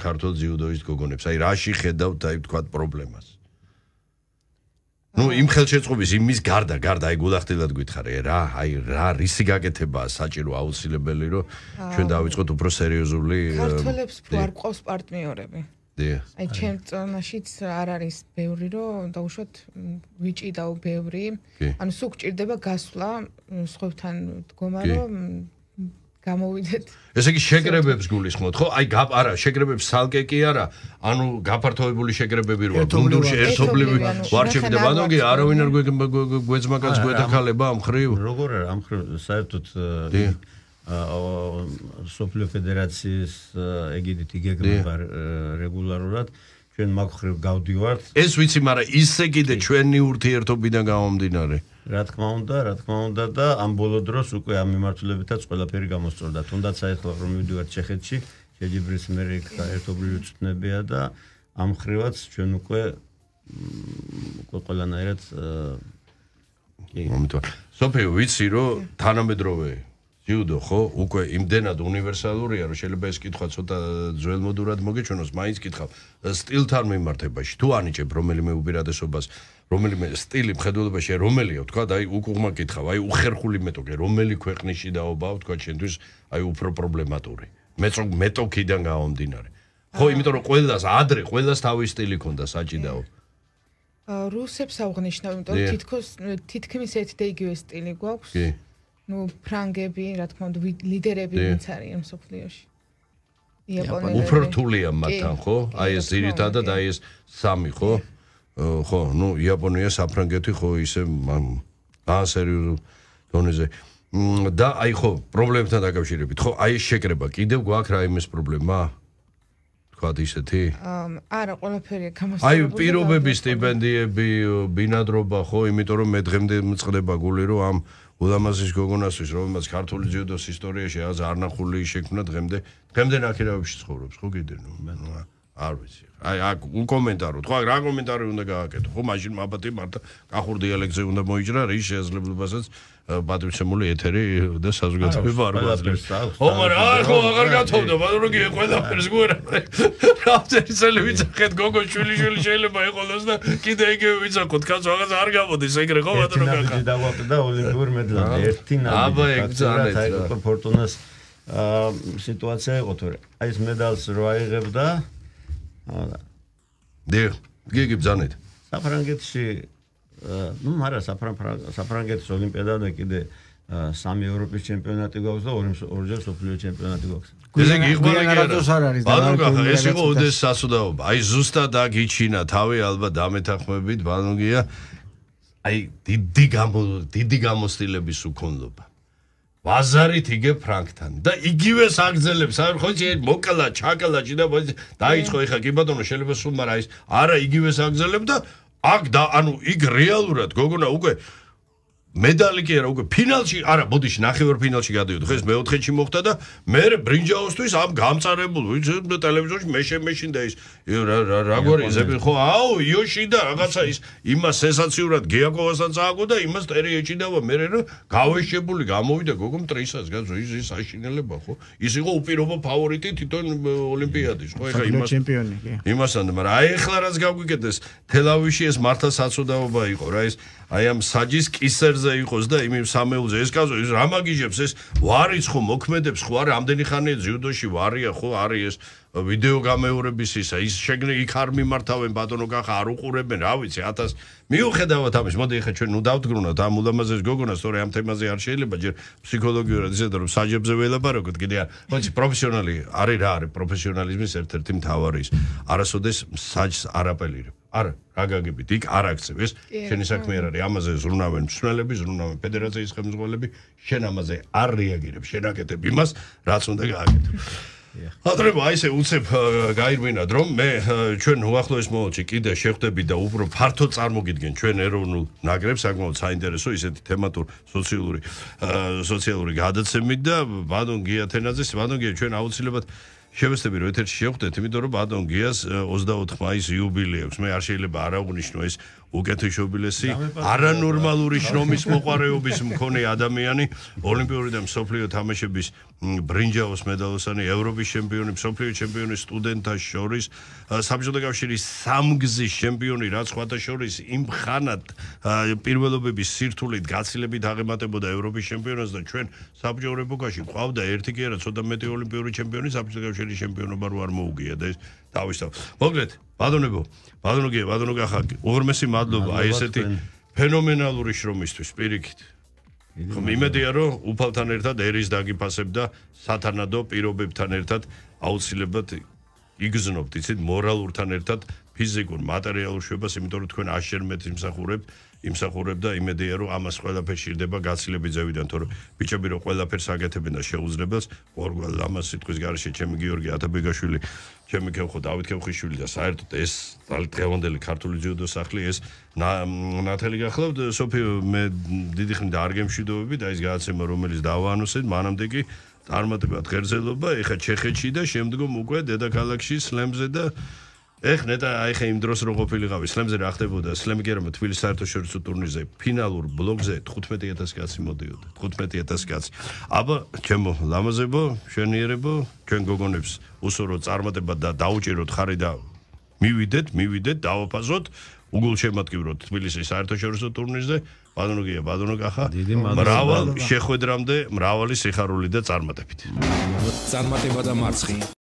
ქართულ ძიუდოისტ გოგონებს? აი რაში ხედავთ აი თქვათ პრობლემას? ნუ იმ ხელშეწყობის იმის გარდა, გარდა აი გულახდილად გითხარი, რა, აი რა რისი გაკეთებაა საჭირო აუცილებელი რომ ჩვენ დავიწყოთ უფრო სერიოზული ქართველებს უფრო არ ყავს პარტნიორები. აი ჩემ წონაშიც არ არის ბევრი რომ დაუშვათ ვიჭიდაო ბევრი ანუ სულ გჭირდება გასვლა სხვებთან დგომა რომ გამოვიდეთ ესე იგი შეკრებებს გულისხმობთ ხო აი არა შეკრებებს სალკე კი არა ანუ გაფართოებული შეკრებები როა გუნდურში ერთობლივი ვარჩები და ბანოგი არავინ არ გვეძმაკაც გვეთახალება ამ ხრივ როგორ არა ამ ხრივ საერთოდ სოფლიო ფედერაციის ეგიდით იგეგმება რეგულარულად ჩვენ მაგ ხრივ გავდივართ ეს ვიცი მაგრამ ისე კიდე ჩვენი ურთიერთობიდან გამომდინარე რა თქმა უნდა რა თქმა უნდა და ამ ბოლო დროს უკვე ამ მიმართულებითაც ყველაფერი გამოსწორდა თუნდაც ახლა რომ მივდივართ ჩეხეთში შეჯიბრის მერე ერთობლივი წვნებია და ამ ხრივაც ჩვენ უკვე უკვე ყველანაირად კი მომიტოვა სოფიო ვიცი რომ თანამედროვე ჯიუდო ხო უკვე იმდენად უნივერსალურია რომ შეიძლება ეს კითხვა ცოტა ძველმოდურად მოგეჩვენოს მაინც კითხავ სტილთან მიმართებაში თუ ანიჭებ რომელიმე უპირატესობას რომელიმე სტილი მხედველობაში რომელია თქვა და აი უკუღმა კითხავ აი უხერხული მეტოქე რომელი ქვეყნის შიდაობაა თქვა ჩვენთვის აი უფრო პრობლემატური მეწო მეტოქიდან გამომდინარე ხო იმიტომ რომ ყველას ადრე ყველას თავის სტილი ქონდა საჭიდაო რუსებს აღნიშნავ იმიტომ რომ თითქოს თითქმის ერთი და იგივე სტილი გვაქვს კი ну ფრანგები რა თქმა უნდა ლიდერები ვინც არიან მსოფლიოში იაპონელი უფრო რთულია მათთან ხო აი ეს ძირითადად აი ეს სამი ხო ხო ну იაპონია საფრანგეთი ხო ისე აა სერიოზულ დონეზე და აი ხო პრობლემებთან დაკავშირებით ხო აი ეს შეკრება კიდევ გვაქვს რა იმის პრობლემა თქვათ ისეთი არა ყველაფერია გამოსწორებული აი პირობები სტიპენდიები ბინადრობა ხო იმიტომ რომ მე დღემდე მწყდება გული რომ ამ ულამაზის გოგონასთვის რომელმაც ქართული ძიუდოს ისტორიაში აღარ არნახული შექმნა დღემდე დღემდე ნაკირავებში ცხოვრობს ხო კიდე ნუ არ ვიცი აი აქ უკომენტაროთ ხო რა კომენტარი უნდა გააკეთო ხო მაშინ მაბათი მართა კახურ დიალექტზე უნდა მოიჭრა რის შესაძლებლობასაც პატრიცემული ეთერი და საზოგადოება არ გვაძლევს ხო მაგრამ არ ხო აღარ გათხოვდა მაგრამ კი ყველაფერს გვერა რა წელი ვიცახეთ გოგო შვილი შვილი შეიძლება ეყოლოს და კიდე იგივე ვიცახოთ კაცო აღარ არ გამოდის ეგრე ხო ბატონო კაკა დავაყდა ოლიმპიურ მედლამდე ერთი ნაბი აბა ეგ ძალიან აი ფორტუნას სიტუაცია იყო თორე აი ეს მედალს რო აიღებდა დიახ, გიგი ბძანეთ. საფრანგეთში ну, მარა საფრანგეთის ოლიმპიადაზე კიდე სამი ევროპის ჩემპიონატი გვაქვს და ორჯერ მსოფლიო ჩემპიონატი გვაქვს. ესე იგი იღბალი კი არ არის. ბანო გახა, ეს იყო ოდესის სასუდაობა. აი ზუსტად აქ იჩინა თავი ალბათ დამეთანხმებით ბანოგია. აი დიდი გამო დიდი გამოცდილების უქონლობა. ბაზარით იგებ ფრანკთან და იგივე საგრძელებს. აი ხო იცი მოკლა, ჩაკლა ჭიდა დაიწყო ეხა კი ბატონო შეიძლება სულ მაგრამ ის არა იგივე საგრძელებ და აქ და ანუ იქ რეალურად გოგონა უკვე медали კი არა უკვე ფინალში არა ბოდიში ნახევარ ფინალში გადავიდო ხო ეს მეოთხეში მოხდა და მე ბრინჯაოსთვის ამ გამწარებულ ვიცი ტელევიზორში მეშე მეშინ და ის რაგვარი ზები ხო აუ იოში და რაღაცა ის იმას სენსაციურად გეაკოვასთან წააგო და იმას ტერი ეჭიდავა მე რომ გავეშებული გამოვიდა გოგო მტრისას გაზო ის ის აშინელება ხო ის იყო უპირობო ფავორიტი თვითონ ოლიმპიადის ხო ეხა იმას ჩემპიონი კი იმასთან მაგრამ აი ეხლა რაც გავგვიკეთეს თელავიში ეს მართლა საცოდაობა იყო რა ეს აი ამ საჯის კისერზე იყოს და იმ სამეულზე ეს კაზო ის რა მაგიჟებს ეს ვარიც ხო მოქმედებს ხო არა ამდენი ხანია ძიუდოში ვარია ხო არის ეს ვიდეო გამეორების ისა ის შეგნე იქ არ მიმართავენ ბატონო გახა არ უყურებენ რა ვიცი ათას მიუხედავად ამის მოდი ეხა ჩვენ ნუ დავდგრუნოთ ამ ულამაზეს გოგონას თორე ამ თემაზე არ შეიძლება ჯერ ფსიქოლოგიურად ისე რომ საჯებზე ველაპარაკოთ კიდე არ ვიცი პროფესიონალი არის რა არის პროფესიონალიზმის ერთ-ერთი მთავარი ის არასოდეს საჯს არაპელირებ არა რა გაგებით იქ არ აქცევ ეს შენი საქმე არ არის ამაზე ზრუნავენ მსვლელები ზრუნავენ ფედერაციის ხელმძღვანელები შენ ამაზე არ რეაგირებ შენ აკეთებ იმას რაც უნდა გააკეთო ატრება აი ესე უცებ გაირბინად რომ მე ჩვენ უახლოეს მომავალში კიდე შეხვდები და უფრო ფართო წარმოგიდგენ ჩვენ ეროვნულ ნაკრებს საკმაოდ საინტერესო ისეთი თემატურ სოციალური სოციალური გადაცემით და ბატონ გია თენაძეს ბატონ გია ჩვენ აუცილებლად შევეცდები რომ ეთერში შევხვდეთ იმიტომ რომ ბატონ გიას ოცდაოთხ მაისს იუბილეი აქვს მე არ შეიძლება არ აღვნიშნო ეს უკეთესობილესი არანორმალური შრომის მოყარეობის მქონე ადამიანი ოლიმპიური და მსოფლიო თამაშების ბრინჯაოს მედალოსანი ევროპის ჩემპიონი მსოფლიო ჩემპიონი სტუდენტთა შორის საბჭოთა კავშირის სამგზის ჩემპიონი რაც სხვათა შორის იმ ხანად პირველობების სირთულით გაცილებით აღემატებოდა ევროპის ჩემპიონატს და ჩვენ საბჭოთა ეპოქაში ყავდა ერთი კი არა ცოტა მეტი ოლიმპიური ჩემპიონი საბჭოთა კავშირის ჩემპიონობა რო არ მოუგია და ეს თავისთავად მოკლედ ბატონებო ბატონო გია ბატონო გახა უღრმესი მადლობა აი ესეთი ფენომენალური შრომისთვის პირიქით ხო იმედია რომ უფალთან ერთად ერის დაგიფასებ და სათანადო პირობებთან ერთად აუცილებლად იგზნობთ იცით მორალურთან ერთად ფიზიკურ მატერიალურ შვებას იმიტომ რომ თქვენ აშერმეთ იმსახურებთ იმსახურებ და იმედია რომ ამას ყველაფერს შირდება გაცილებით ზევიდან თორე ბიჭები რომ ყველაფერს აკეთებენ და შეუძლებელს ორგვალ ამას სიტყვის გარეშე ჩემი გიორგი ათაბეგაშვილი ჩემი ქევხო დავით ქევხიშვილი და საერთოდ ეს დღევანდელი ქართული ძიუდო სახლი ეს ნათელი გახლავთ სოფიო მე დიდი ხნით არ გემშვიდობები და ეს გადაცემა რომელიც დავაანონსეთ მანამდე კი წარმატებად ღერძელობა ეხა ჩეხეთში და შემდგომ უკვე დედაქალაქში სლემზე და ეხ ნეტა აი ხე იმ დროს რო ყოფილიყავი სლემზე რა ხდებოდა სლემი კი არა თბილისის საერთაშორისო ტურნირზე ფინალურ ბლოკზე თხუთმეტი ათასი კაცი მოდიოდა თხუთმეტი ათასი კაცი აბა ჩემო ლამაზებო შვენიერებო ჩვენ გოგონებს უსურო წარმატება და დაუჭიროთ ხარი და მივიდეთ მივიდეთ დავაფასოთ უგულშემატკივროთ თბილისის საერთაშორისო ტურნირზე ბატონო გია ბატონო კახა მრავალ შეხვედრამდე მრავალი სიხარული და წარმატებით წარმატება და მარცხი